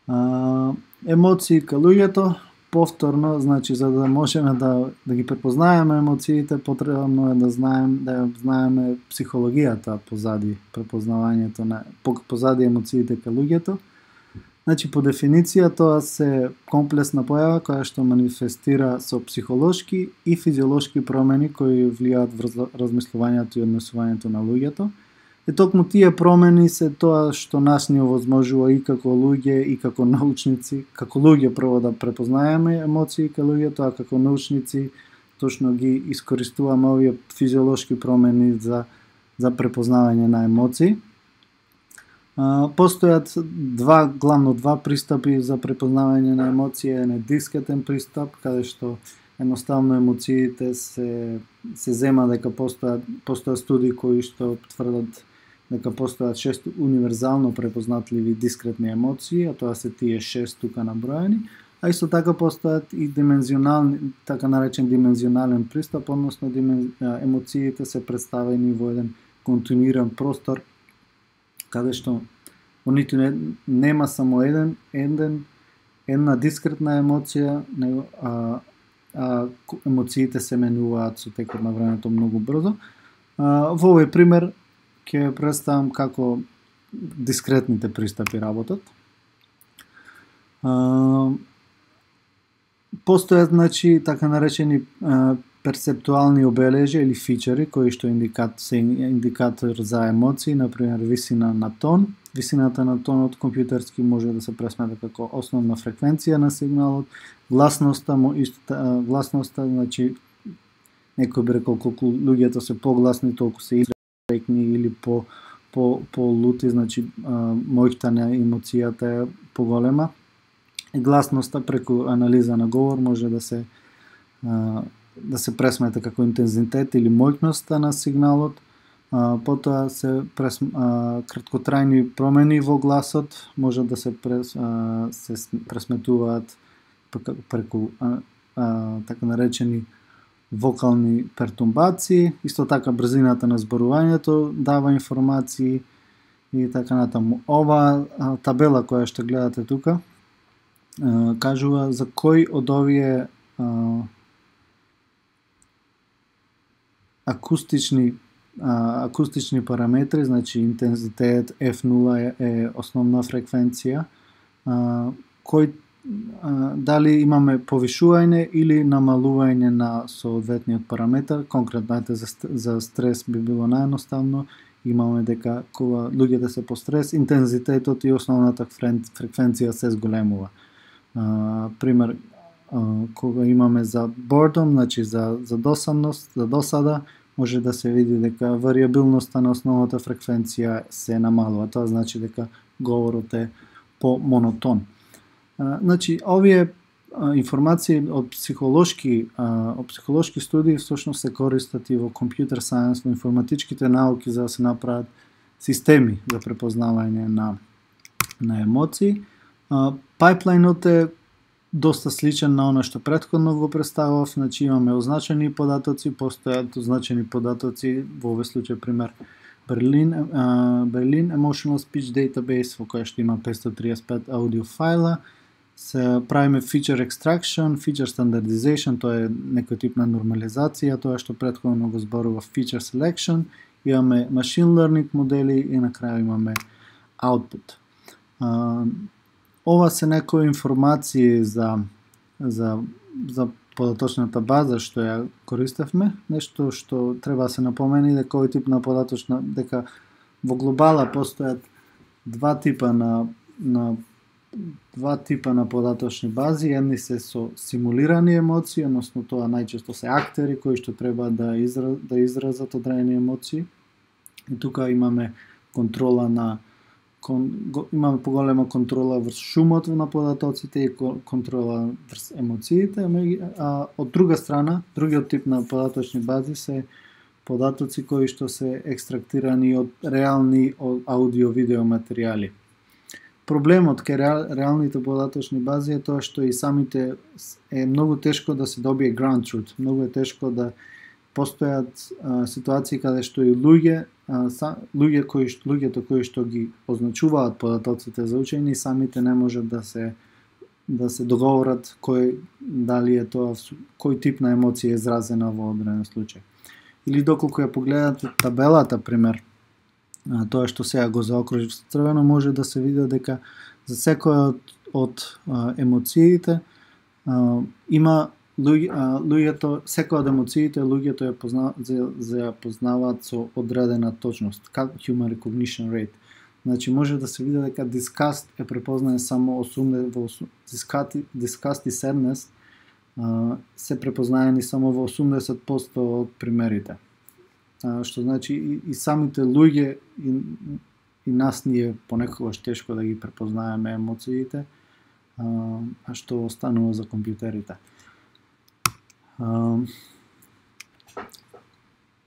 Емоции кај луѓето, повторно, значи за да можеме да ги препознаеме емоциите, потребно е да знаеме психологијата позади препознавањето позади емоциите кај луѓето. Значи, по дефиниција, тоа се комплексна појава која што манифестира со психолошки и физиолошки промени кои влијаат врз размислувањето и однесувањето на луѓето. И токму тие промени се тоа што нас ни овозможува и како луѓе и како научници, како луѓе прво да препознаеме емоции кај луѓето, а како научници точно ги искористуваме овие физиолошки промени за препознавање на емоции. Постојат главно два пристапи за препознавање на емоции. Еден е дискретен пристап, каде што едноставно емоциите се зема дека постојат студии кои што тврдат дека постојат 6 универзално препознатливи дискретни емоции, а тоа се тие 6 тука наброени, а исто така постојат и така наречен димензионален пристап, односно емоциите се представени во еден континуиран простор, каде што во ниту нема само една дискретна емоција, емоциите се менуваат со текот на времето многу брзо. Во овој пример ќе представам како дискретните пристапи работат. Постојат, значи, така наречени перцептуални обележја или фичери кои што се индикатор за емоции, например висина на тон. Висината на тонот компјутерски може да се пресмета како основна фреквенција на сигналот. Гласноста, значи некој би рекол колку луѓето се погласни, толку се изрекни или по-лути, значи моќта на емоцијата е поголема. И гласноста преку анализа на говор може да се пресмета како интензитет или моќноста на сигналот. Потоа се краткотрајни промени во гласот може да се пресметуваат преку така наречени вокални пертурбации, исто така брзината на зборувањето дава информации и така натаму. Ова табела која што гледате тука кажува за кој од овие акустични параметри, значи интензитет, F0 е основна фреквенција, дали имаме повишување или намалување на соодветниот параметар. Конкретно за стрес би било наједноставно. Имаме дека кога луѓето се по стрес, интензитетот и основната фреквенција се зголемува. Пример, кога имаме за boredom, значи за досадност, за досада, може да се види дека варијабилноста на основната фреквенција се намалува. Тоа значи дека говорот е по-монотон. Значи, овие информации од психолошки студии всушност се користат и во компјутер сајенс, во информатичките науки за да се направат системи за препознавање на емоции. Пайплајнот е доста сличен на она што претходно го представав, значи имаме означени податоци, постојат означени податоци, во овој случај пример Berlin Emotional Speech Database, во која што има 535 аудио файла. Се правиме feature extraction, feature standardization, тоа е некој тип на нормализација, тоа што претходно го зборува feature selection, имаме machine learning модели и на крај имаме output. Ова се некои информации за податочната база што ја користевме. Нешто што треба да се напомени дека овој тип на дека во глобала постојат два типа на податочни бази. Едни се со симулирани емоции, односно тоа најчесто се актери кои што треба да изразат одредени емоции. И тука имаме имаме поголема контрола врз шумот на податоците и контрола врз емоциите, а од друга страна, другиот тип на податочни бази се податоци кои што се екстрактирани од реални аудио-видео материјали. Проблемот кај реалните податочни бази е тоа што и самите е многу тешко да се добие ground truth, многу е тешко да постојат ситуации каде што и луѓе луѓето кои што ги означуваат податоците за учење, самите не можат да се договорат дали е тоа кој тип на емоција е изразена во одреден случај. Или доколку ја погледате табелата, пример, тоа што сега го заокружив со црвено, може да се види дека за секоја од емоциите има луѓето, секоја од емоциите луѓето ја познаваат со одредена точност, human recognition rate. Значи може да се види дека disgust е препознаен само 80 disgust и sadness се препознаени само во 80% од примерите. Што значи и самите луѓе и нас ние понекогаш тешко да ги препознаеме емоциите, а што останува за компјутерите.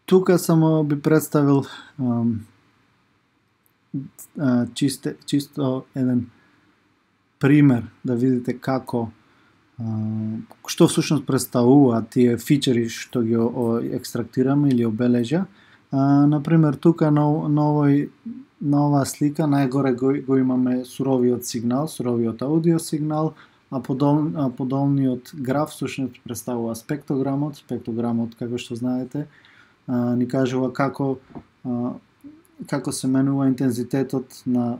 Тука само би представил чисто еден пример да видите како што всушност представуваат тие фичери што ги екстрактираме или обележја. Например, тука на оваа слика најгоре го имаме суровиот сигнал, суровиот аудио сигнал, а подолниот граф всушност представува спектрограмот. Спектрограмот, како што знаете, ни кажува како се менува интензитетот на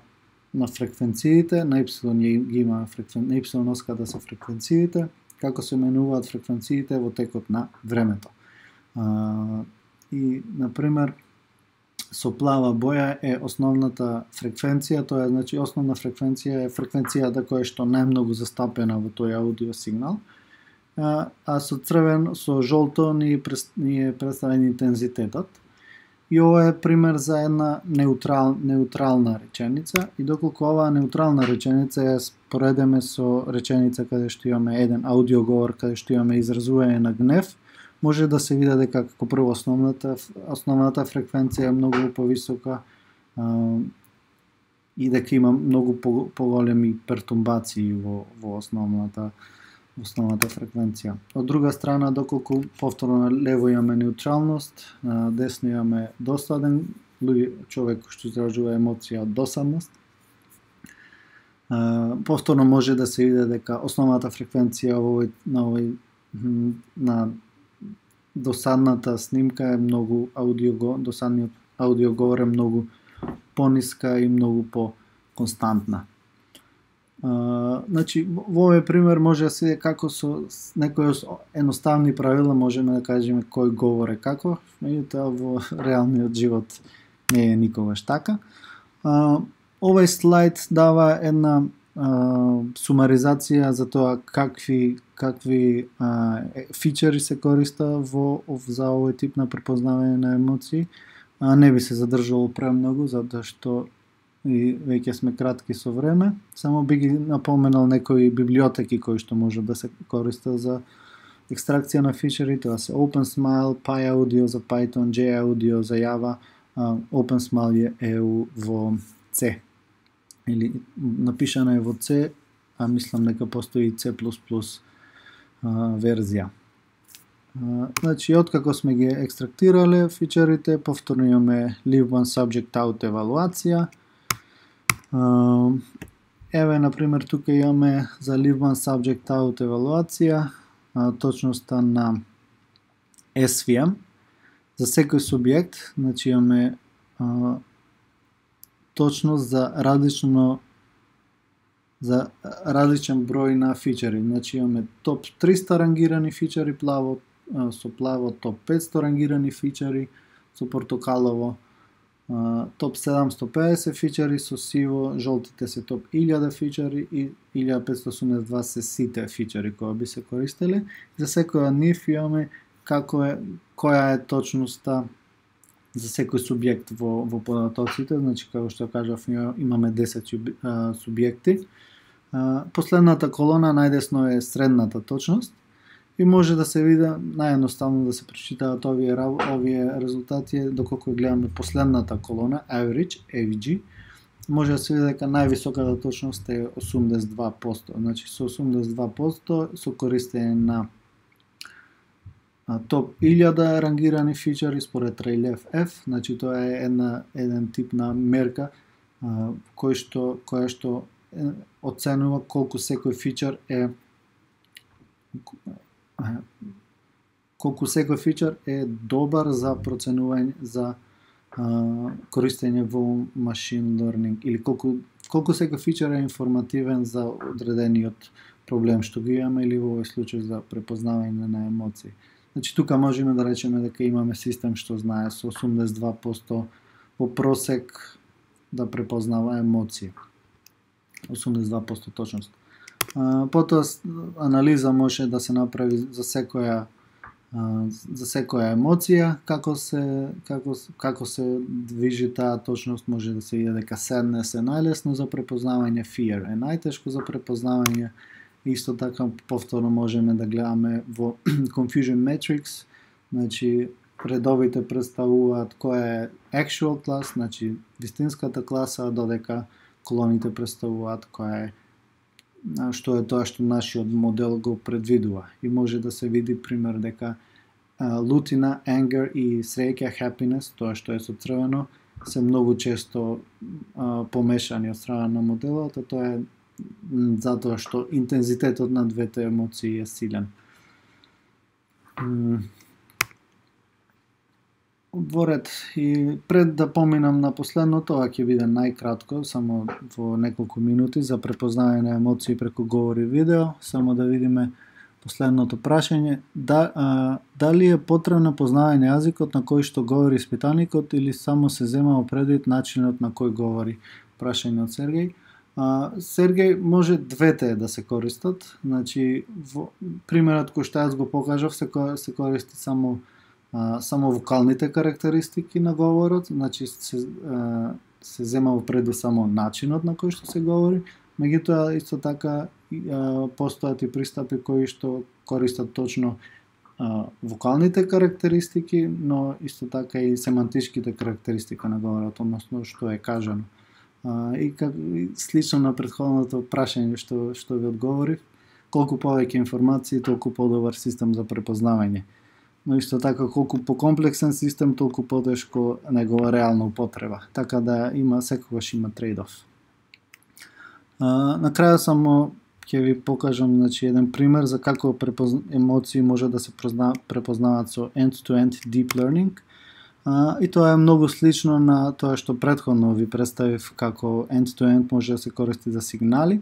фреквенциите, на Y ги има на Y оската се фреквенциите, како се менуваат фреквенциите во текот на времето. И, например, со плава боја е основната фреквенција, тоа е, значи, основна фреквенција е фреквенцијата која што најмногу застапена во тој аудио сигнал, а со црвен, со жолто ни е представен интензитетот. И ова е пример за една неутрална реченица, и доколку оваа неутрална реченица ја споредеме со реченица каде што имаме еден аудиоговор, каде што имаме изразување на гнев, може да се види дека како прво основната фреквенција е многу повисока и дека има многу поголеми пертурбации во основната фреквенција. Од друга страна, доколку повторно лево имаме неутралност, десно имаме досаден, човек што изражува емоција од досадност. Повторно може да се види дека основната фреквенција на досадната снимка е многу досадниот аудиоговор е многу пониска и многу по-константна. Значи, во овој пример може да се види како со некои едноставни правила можеме да кажеме кој говор е како, меѓутоа во реалниот живот не е никогаш така. Овој слайд дава една сумаризација за тоа какви фичери се користа за овој тип на препознавање на емоции. Не би се задржувал премногу, затоа што и веќе сме кратки со време. Само би ги напоменал некои библиотеки кои што може да се користат за екстракција на фичери. Тоа се OpenSmile, PyAudio за Python, JAudio за Java. OpenSmile е во C. Или напишано е во C, а мислам дека постои и C++ верзија. Значи, откако сме ги екстрактирале фичерите, повторно имаме Leave One Subject Out евалуација. Еве, например, тука имаме за Leave One Subject Out евалуација, точноста на SVM. За секој субјект, значи имаме точност за различен број на фичери. Значи имаме топ 300 рангирани фичери, со плаво топ 500 рангирани фичери, со портокалово топ 750 фичери, со сиво жолтите се топ 1000 фичери и 1582 се сите фичери кои би се користеле. За секој од нив имаме која е точноста за секој субјект во податоците, значи како што кажав имаме 10 субјекти. Последната колона најдесно е средната точност и може да се види наједноставно да се прочитаат овие резултати доколку гледаме последната колона average, AVG, може да се види дека највисоката точност е 82%, значи со 82% со користење на топ 1000 рангирани фичери според Rayleigh F, значи тоа е еден тип на мерка која што оценува колку секој фичер е добар за проценување за користење во machine learning, или колку секој фичер е информативен за одредениот проблем што ги имаме, или во овој случај за препознавање на емоции. Значи тука можеме да речеме дека имаме систем што знае со 82% во просек да препознава емоции. 82% точност. Потоа анализа може да се направи за секоја емоција, како се движи таа точност, може да се види дека sadness е најлесно за препознавање, fear е најтешко за препознавање. Исто така повторно можеме да гледаме во confusion matrix, значи редовите представуваат која е actual class, значи вистинската класа, додека колоните представуваат што е тоа што нашиот модел го предвидува. И може да се види пример дека лутина, anger и среќа, happiness, тоа што е со црвено, се многу често помешани од страна на моделот, а тоа е затоа што интензитетот на двете емоции е силен. Воред и пред да поминам на последното, ова ќе биде најкратко, само во неколку минути за препознавање на емоции преку говор и видео, само да видиме последното прашање. Дали е потребно познавање јазикот на кој што говори испитаникот или само се зема предвид начинот на кој говори? Прашање од Сергеј. Сергеј, може двете да се користат, значи примерот кој што јас го покажав се користи само вокалните карактеристики на говорот, значи се зема во преду само начинот на кој што се говори, меѓутоа исто така постојат и пристапи кои што користат точно вокалните карактеристики, но исто така и семантичките карактеристики на говорот, односно што е кажано. И слично на претходното прашање што ви одговорив, колку повеќе информации, толку подобар систем за препознавање. Но исто така, колку покомплексен систем, толку потешко негова реална употреба. Така да секогаш има трейд-оф. На крај само ќе ви покажам еден пример за како емоции може да се препознаваат со end-to-end deep learning. И тоа е многу слично на тоа што претходно ви представив како end-to-end може да се користи за сигнали.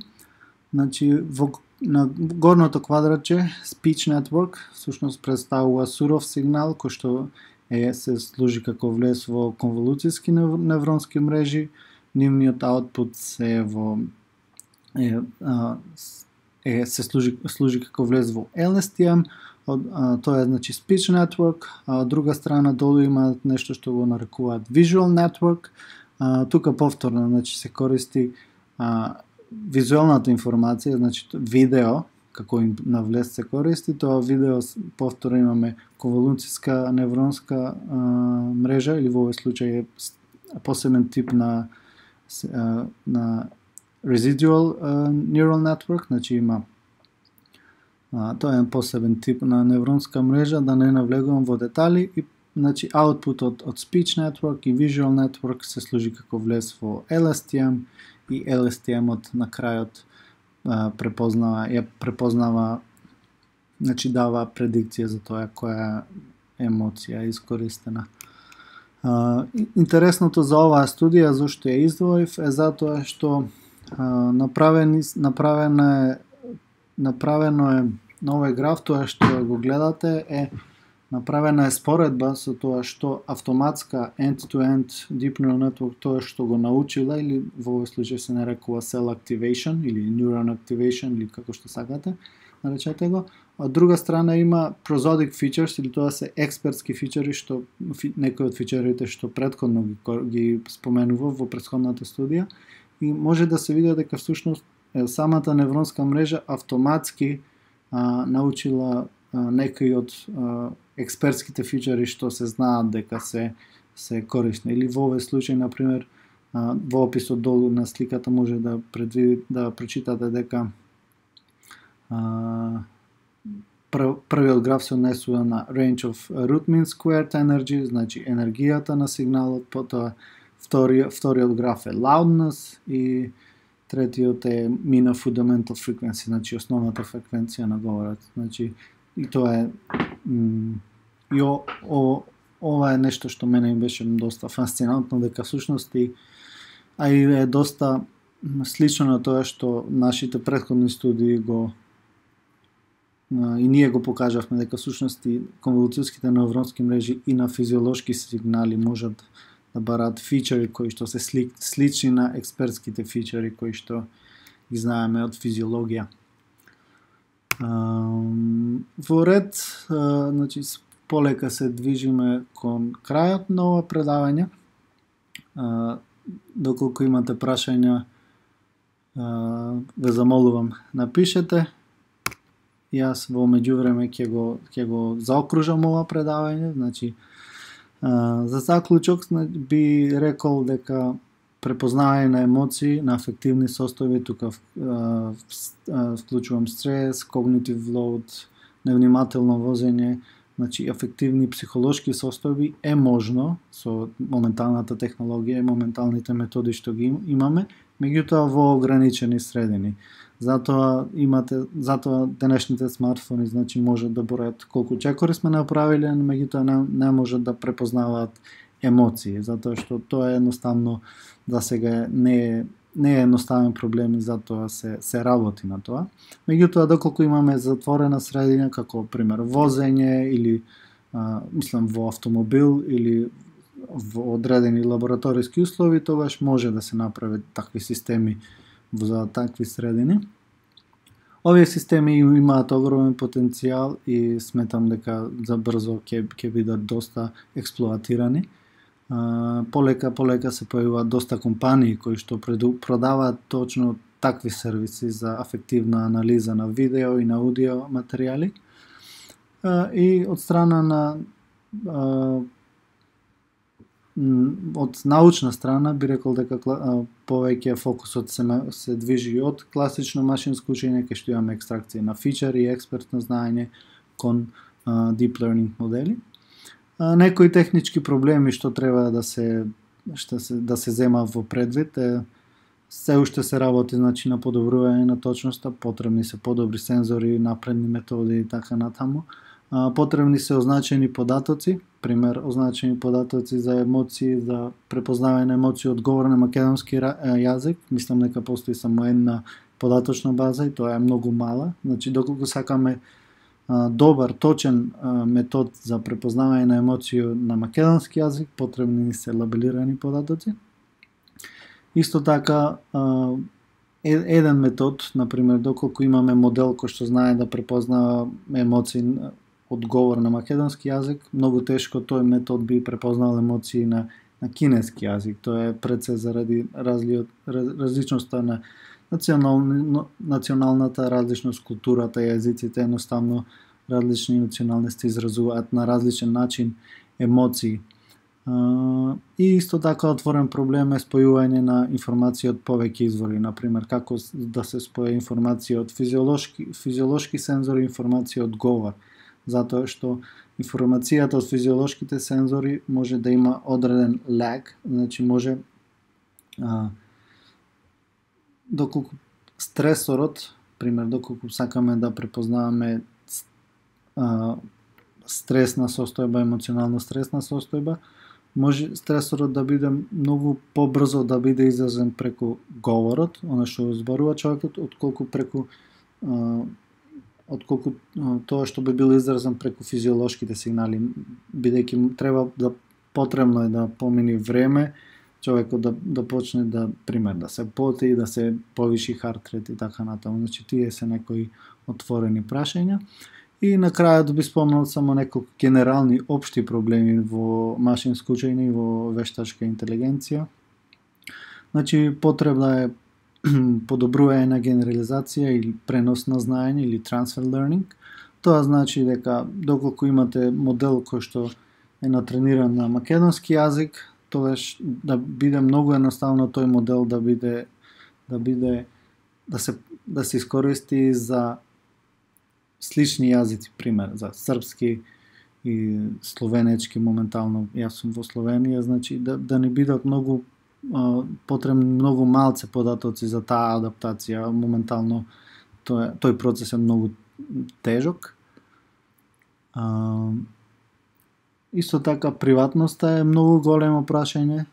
Значи, на горното квадратче speech network всушност представува суров сигнал кој што се служи како влез во конволуцијски невронски мрежи. Нивниот output се служи како влез во LSTM. Тоа е значи speech network, а од друга страна долу има нешто што го нарекуваат visual network. Тука повторно значи се користи визуелната информација, значи видео како на влез се користи, тоа видео повторно имаме конволуцијска невронска мрежа, или во овој случај е посебен тип на residual neural network, значи има тоа е посебен тип на невронска мрежа, да не навлегувам во детали. И значи outputот од speech network и visual network се служи како влез во LSTM, и LSTM-от на крајот препознава, значи дава предикција за тоа која емоција е искористена. Интересното за оваа студија, зашто ја издвоив, е затоа што направено е на овој граф, тоа што го гледате направена е споредба со тоа што автоматска end-to-end deep neural network, тоа што го научила, или во овој случај се нарекува cell activation или neuron activation, или како што сакате, наречете го. Од друга страна има prosodic features, или тоа се експертски фичери, што некои од фичерите што претходно ги споменува во претходната студија, и може да се види дека всушност самата невронска мрежа автоматски научила некои од експертските фичери што се знаат дека се корисни. Или во овој случај, например, во описот долу на сликата може да прочитате дека првиот граф се однесува на range of root mean squared energy, значи енергијата на сигналот, потоа вториот граф е loudness и третиот е mean of fundamental frequency, значи основната фреквенција на говорот. Значи и тоа е и ова е нешто што мене ми беше доста фасцинантно, дека всушност и е доста слично на тоа што нашите претходни студии и ние го покажавме, дека всушност и конволуцијските невронски мрежи и на физиолошки сигнали можат да бараат фичери кои што се слични на експертските фичери кои што ги знаеме од физиологија. Во ред, значи полека се движиме кон крајот на ова предавање. Доколку имате прашања, ве замолувам, напишете. Јас во меѓувреме ќе го заокружам ова предавање, значи за заклучок би рекол дека препознавање на емоции, на афективни состојби, тука вклучувам стрес, когнитив лоуд, невнимателно возење, значи афективни психолошки состојби е можно со моменталната технологија и моменталните методи што ги имаме, меѓутоа во ограничени средини. Затоа денешните смартфони значи можат да бројат колку чекори сме направиле, меѓутоа не можат да препознаваат емоции, затоа што тоа е едноставно за сега не е едноставен проблем и затоа се работи на тоа. Меѓутоа доколку имаме затворена средина како пример возење или во автомобил или во одредени лабораториски услови, тогаш може да се направат такви системи за такви средини. Овие системи имаат огромен потенцијал и сметам дека за брзо ќе бидат доста експлоатирани. Полека се појавуваат доста компании кои што продаваат точно такви сервиси за афективна анализа на видео и на аудио материјали. И од страна на од научна страна би рекол дека повеќе фокусот се движи од класично машинско учење, кај што имаме екстракција на фичери и експертно знаење кон deep learning модели. Некои технички проблеми што треба да се зема во предвид се уште се работи значи на подобрување на точноста, потребни се подобри сензори, напредни методи и така натаму. Потребни се означени податоци, пример означени податоци за емоции, за препознавање на емоции од говор на македонски јазик. Мислам дека постои само една податочна база и тоа е многу мала. Значи доколку сакаме добар, точен метод за препознавање на емоции на македонски јазик, потребни се лабелирани податоци. Исто така еден метод, например, доколку имаме модел кој што знае да препознава емоции од говор на македонски јазик, многу тешко тој метод би препознал емоции на кинески јазик. Тоа е пред се заради различноста на националната различност, културата, јазиците, едноставно различни националности изразуваат на различен начин емоции. И исто така отворен проблем е спојување на информација од повеќе извори, например како да се споја информација од физиолошки сензори и информација од говор, затоа што информацијата од физиолошките сензори може да има одреден lag, значи може доколку стресорот, пример доколку сакаме да препознаваме стресна состојба, емоционално стресна состојба, може стресорот да биде многу побрзо да биде изразен преку говорот, она што зборува човекот, отколку тоа што би било изразен преку физиолошките сигнали, бидејќи потребно е да помине време, човекот да почне да се поти, да се повиши харт рейт и така натаму. Значи тие се некои отворени прашања. И на крајот би спомнал само неколку генерални општи проблеми во машинско учење и во вештачка интелигенција. Значи потребна е подобрување на генерализација или пренос на знаење или transfer learning. Тоа значи дека доколку имате модел кој што е натрениран на македонски јазик, тогаш да биде многу едноставно тој модел да се искористи за слични јазици, пример, за српски и словенечки моментално, јас сум во Словенија, значи да не бидат многу потребни многу малце податоци за таа адаптација, моментално тој процес е многу тежок. Исто така приватноста е многу големо прашање,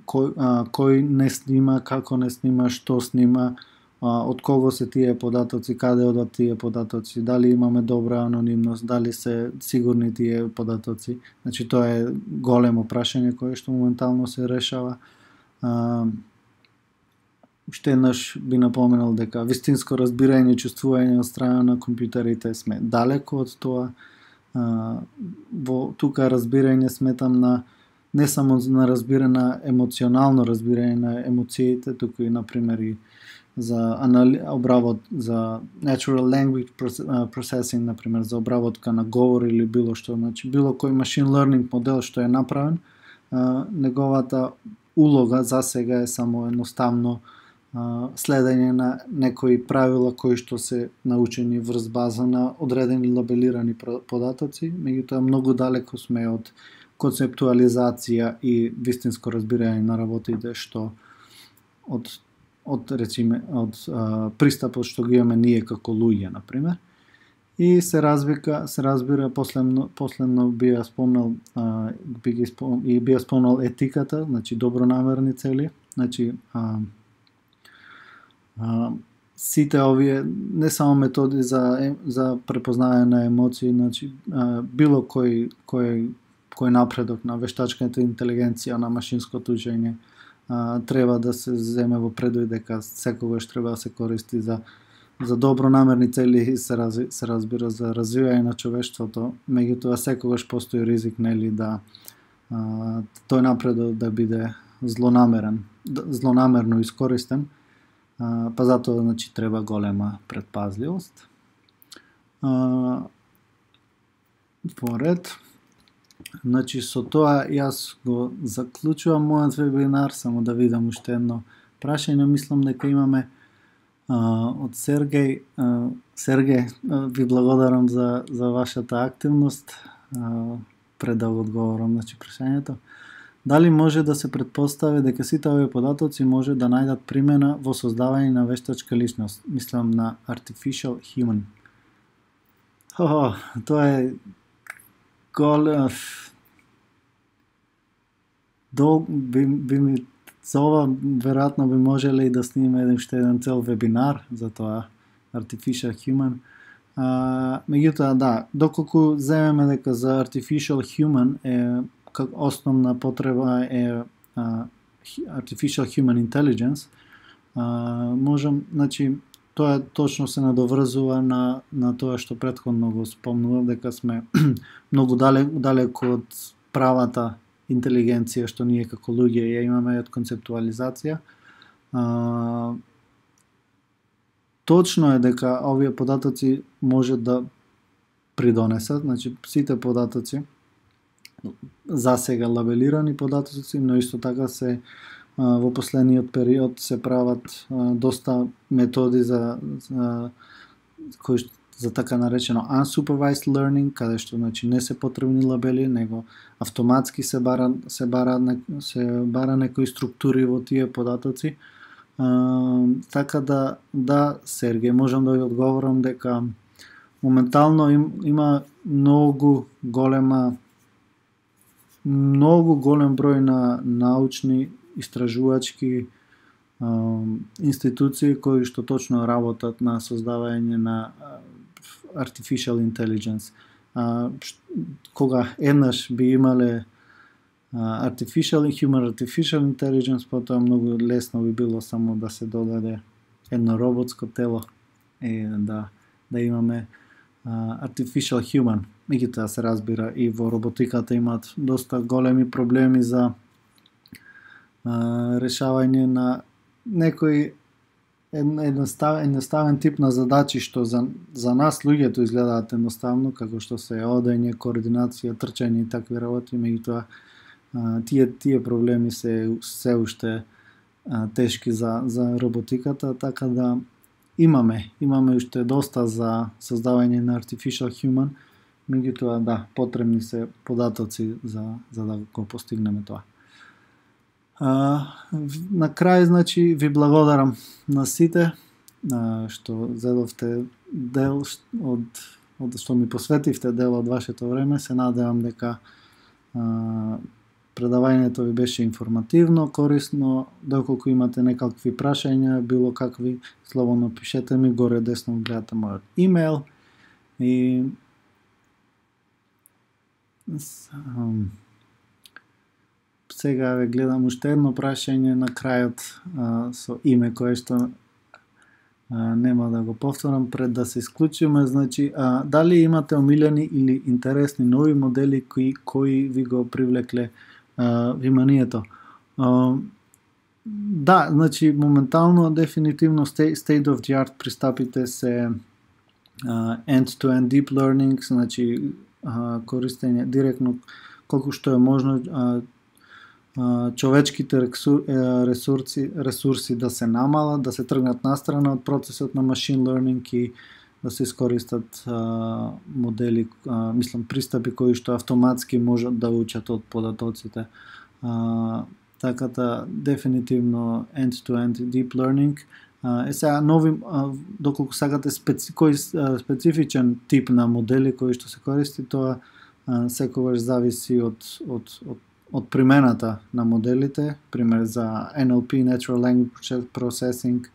кој не снима, како не снима, што снима, од кого се тие податоци, каде одат тие податоци, дали имаме добра анонимност, дали се сигурни тие податоци. Значи тоа е големо прашање кое што моментално се решава. Уште еднаш би напоменал дека вистинско разбирање и чувствување од страна на компјутерите сме далеко од тоа. Тука разбирање сметам на не само на емоционално разбирање на емоциите, туку и например и за обравот за natural language processing, например за обработка на говор или било што, значи било кој machine learning модел што е направен, неговата улога за сега е само едноставно следење на некои правила кои што се научени врз база на одредени лабелирани податоци, меѓутоа многу далеко сме од концептуализација и вистинско разбирање на работите што од пристапот што ги имаме ние како луѓе, например. И се разбира последно би спомнал етиката, значи добронамерни цели, значи сите овие не само методи за препознавање на емоции, значи било кој напредок на вештачката интелигенција, на машинското учење, треба да се земе во предвид дека секогаш треба да се користи за добронамерни цели и се разбира за развивање на човештвото, меѓутоа секогаш постои ризик, нели, да тој напредок да биде злонамерно искористен, па затоа значи треба голема претпазливост. Поред, значи со тоа јас го заклучувам мојот вебинар, само да видам уште едно прашање, мислам дека имаме од Сергеј. Сергеј, ви благодарам за вашата активност, пред да одговорам на прашањето. Дали може да се претпостави дека сите овие податоци може да најдат примена во создавање на вештачка личност? Мислам на artificial human. Тоа е би ми за ова веројатно би можеле и да снимиме уште еден цел вебинар за тоа artificial human. Меѓутоа да, доколку земеме дека за artificial human е основна потреба е artificial human intelligence, можам, значи тоа точно се надоврзува на тоа што претходно го спомнував, дека сме многу далеко од правата интелигенција што ние како луѓе ја имаме, од концептуализација. Точно е дека овие податоци може да придонесат, значи сите податоци за сега лабелирани податоци, но исто така се во последниот период се прават доста методи за така наречено unsupervised learning, каде што значи не се потребни лабели, него автоматски се бара некои структури во тие податоци. Така да Сергеј, можам да ви одговорам дека моментално има многу голем број на научни истражувачки институции кои што точно работат на создавање на artificial intelligence. Кога еднаш би имале human artificial intelligence, потоа многу лесно би било само да се додаде едно роботско тело и да имаме artificial human. Меѓутоа се разбира и во роботиката имаат доста големи проблеми за решавање на некој едноставен тип на задачи што за нас луѓето изгледаат едноставно, како што се одење, координација, трчање и такви работи, меѓутоа тие проблеми се уште тешки за роботиката, така да имаме уште доста за создавање на Artificial Human, меѓутоа да, потребни се податоци за да го постигнеме тоа. На крај, значи, ви благодарам на сите што зедовте дел од што ми посветивте дел од вашето време. Се надевам дека предавањето ви беше информативно, корисно. Доколку имате некакви прашања, било какви, слободно пишете ми, горе десно гледате мојот имейл. И сега ве гледам уште едно прашање на крајот со име кое што нема да го повторам пред да се исклучиме. Значи, дали имате омилени или интересни нови модели кои ви го привлекле вниманието? Да, значи, моментално, дефинитивно, state of the art пристапите се end-to-end deep learning, значи, користење директно, колку што е можно, човечките ресурси да се намалат, да се тргнат настрана од процесот на machine learning и да се искористат модели, пристапи кои што автоматски можат да учат од податоците. Така да, дефинитивно end-to-end deep learning. Сега нови, доколку сакате кој специфичен тип на модели кои што се користи, тоа секогаш зависи од примената на моделите, пример за NLP, Natural Language Processing,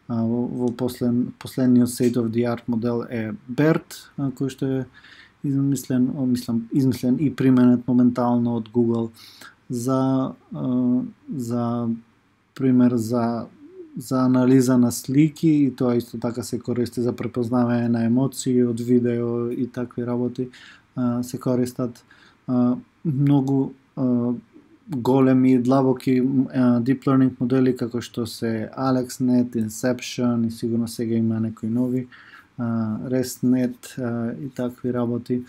во последниот state of the art модел е BERT, кој што е измислен и применет моментално од Google за пример за анализа на слики, и тоа исто така се користи за препознавање на емоции од видео и такви работи. Се користат многу големи и длабоки deep learning модели како што се AlexNet, Inception и сигурно сега има некои нови, ResNet и такви работи.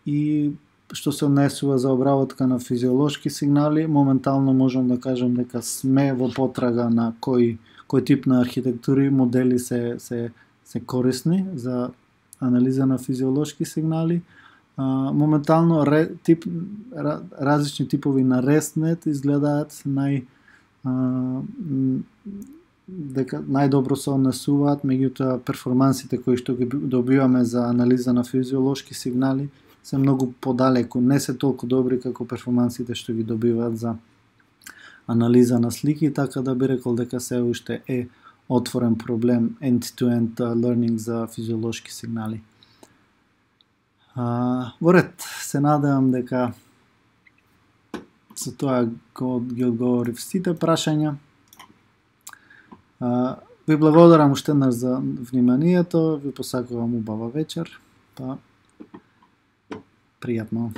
И што се однесува за обработка на физиолошки сигнали, моментално можам да кажам дека сме во потрага на кој тип на архитектури модели се корисни за анализа на физиолошки сигнали. Моментално различни типови на ResNet изгледаат дека најдобро се однесуваат, меѓутоа перформансите кои што ги добиваме за анализа на физиолошки сигнали се многу подалеку, не се толку добри како перформансите што ги добиваат за анализа на слики, така да би рекол дека се уште е отворен проблем end-to-end learning за физиолошки сигнали. Во ред, се надевам дека со тоа ги одговорив сите прашања. Ви благодарам уште еднаш за вниманието, ви посакувам убава вечер, па пријатно.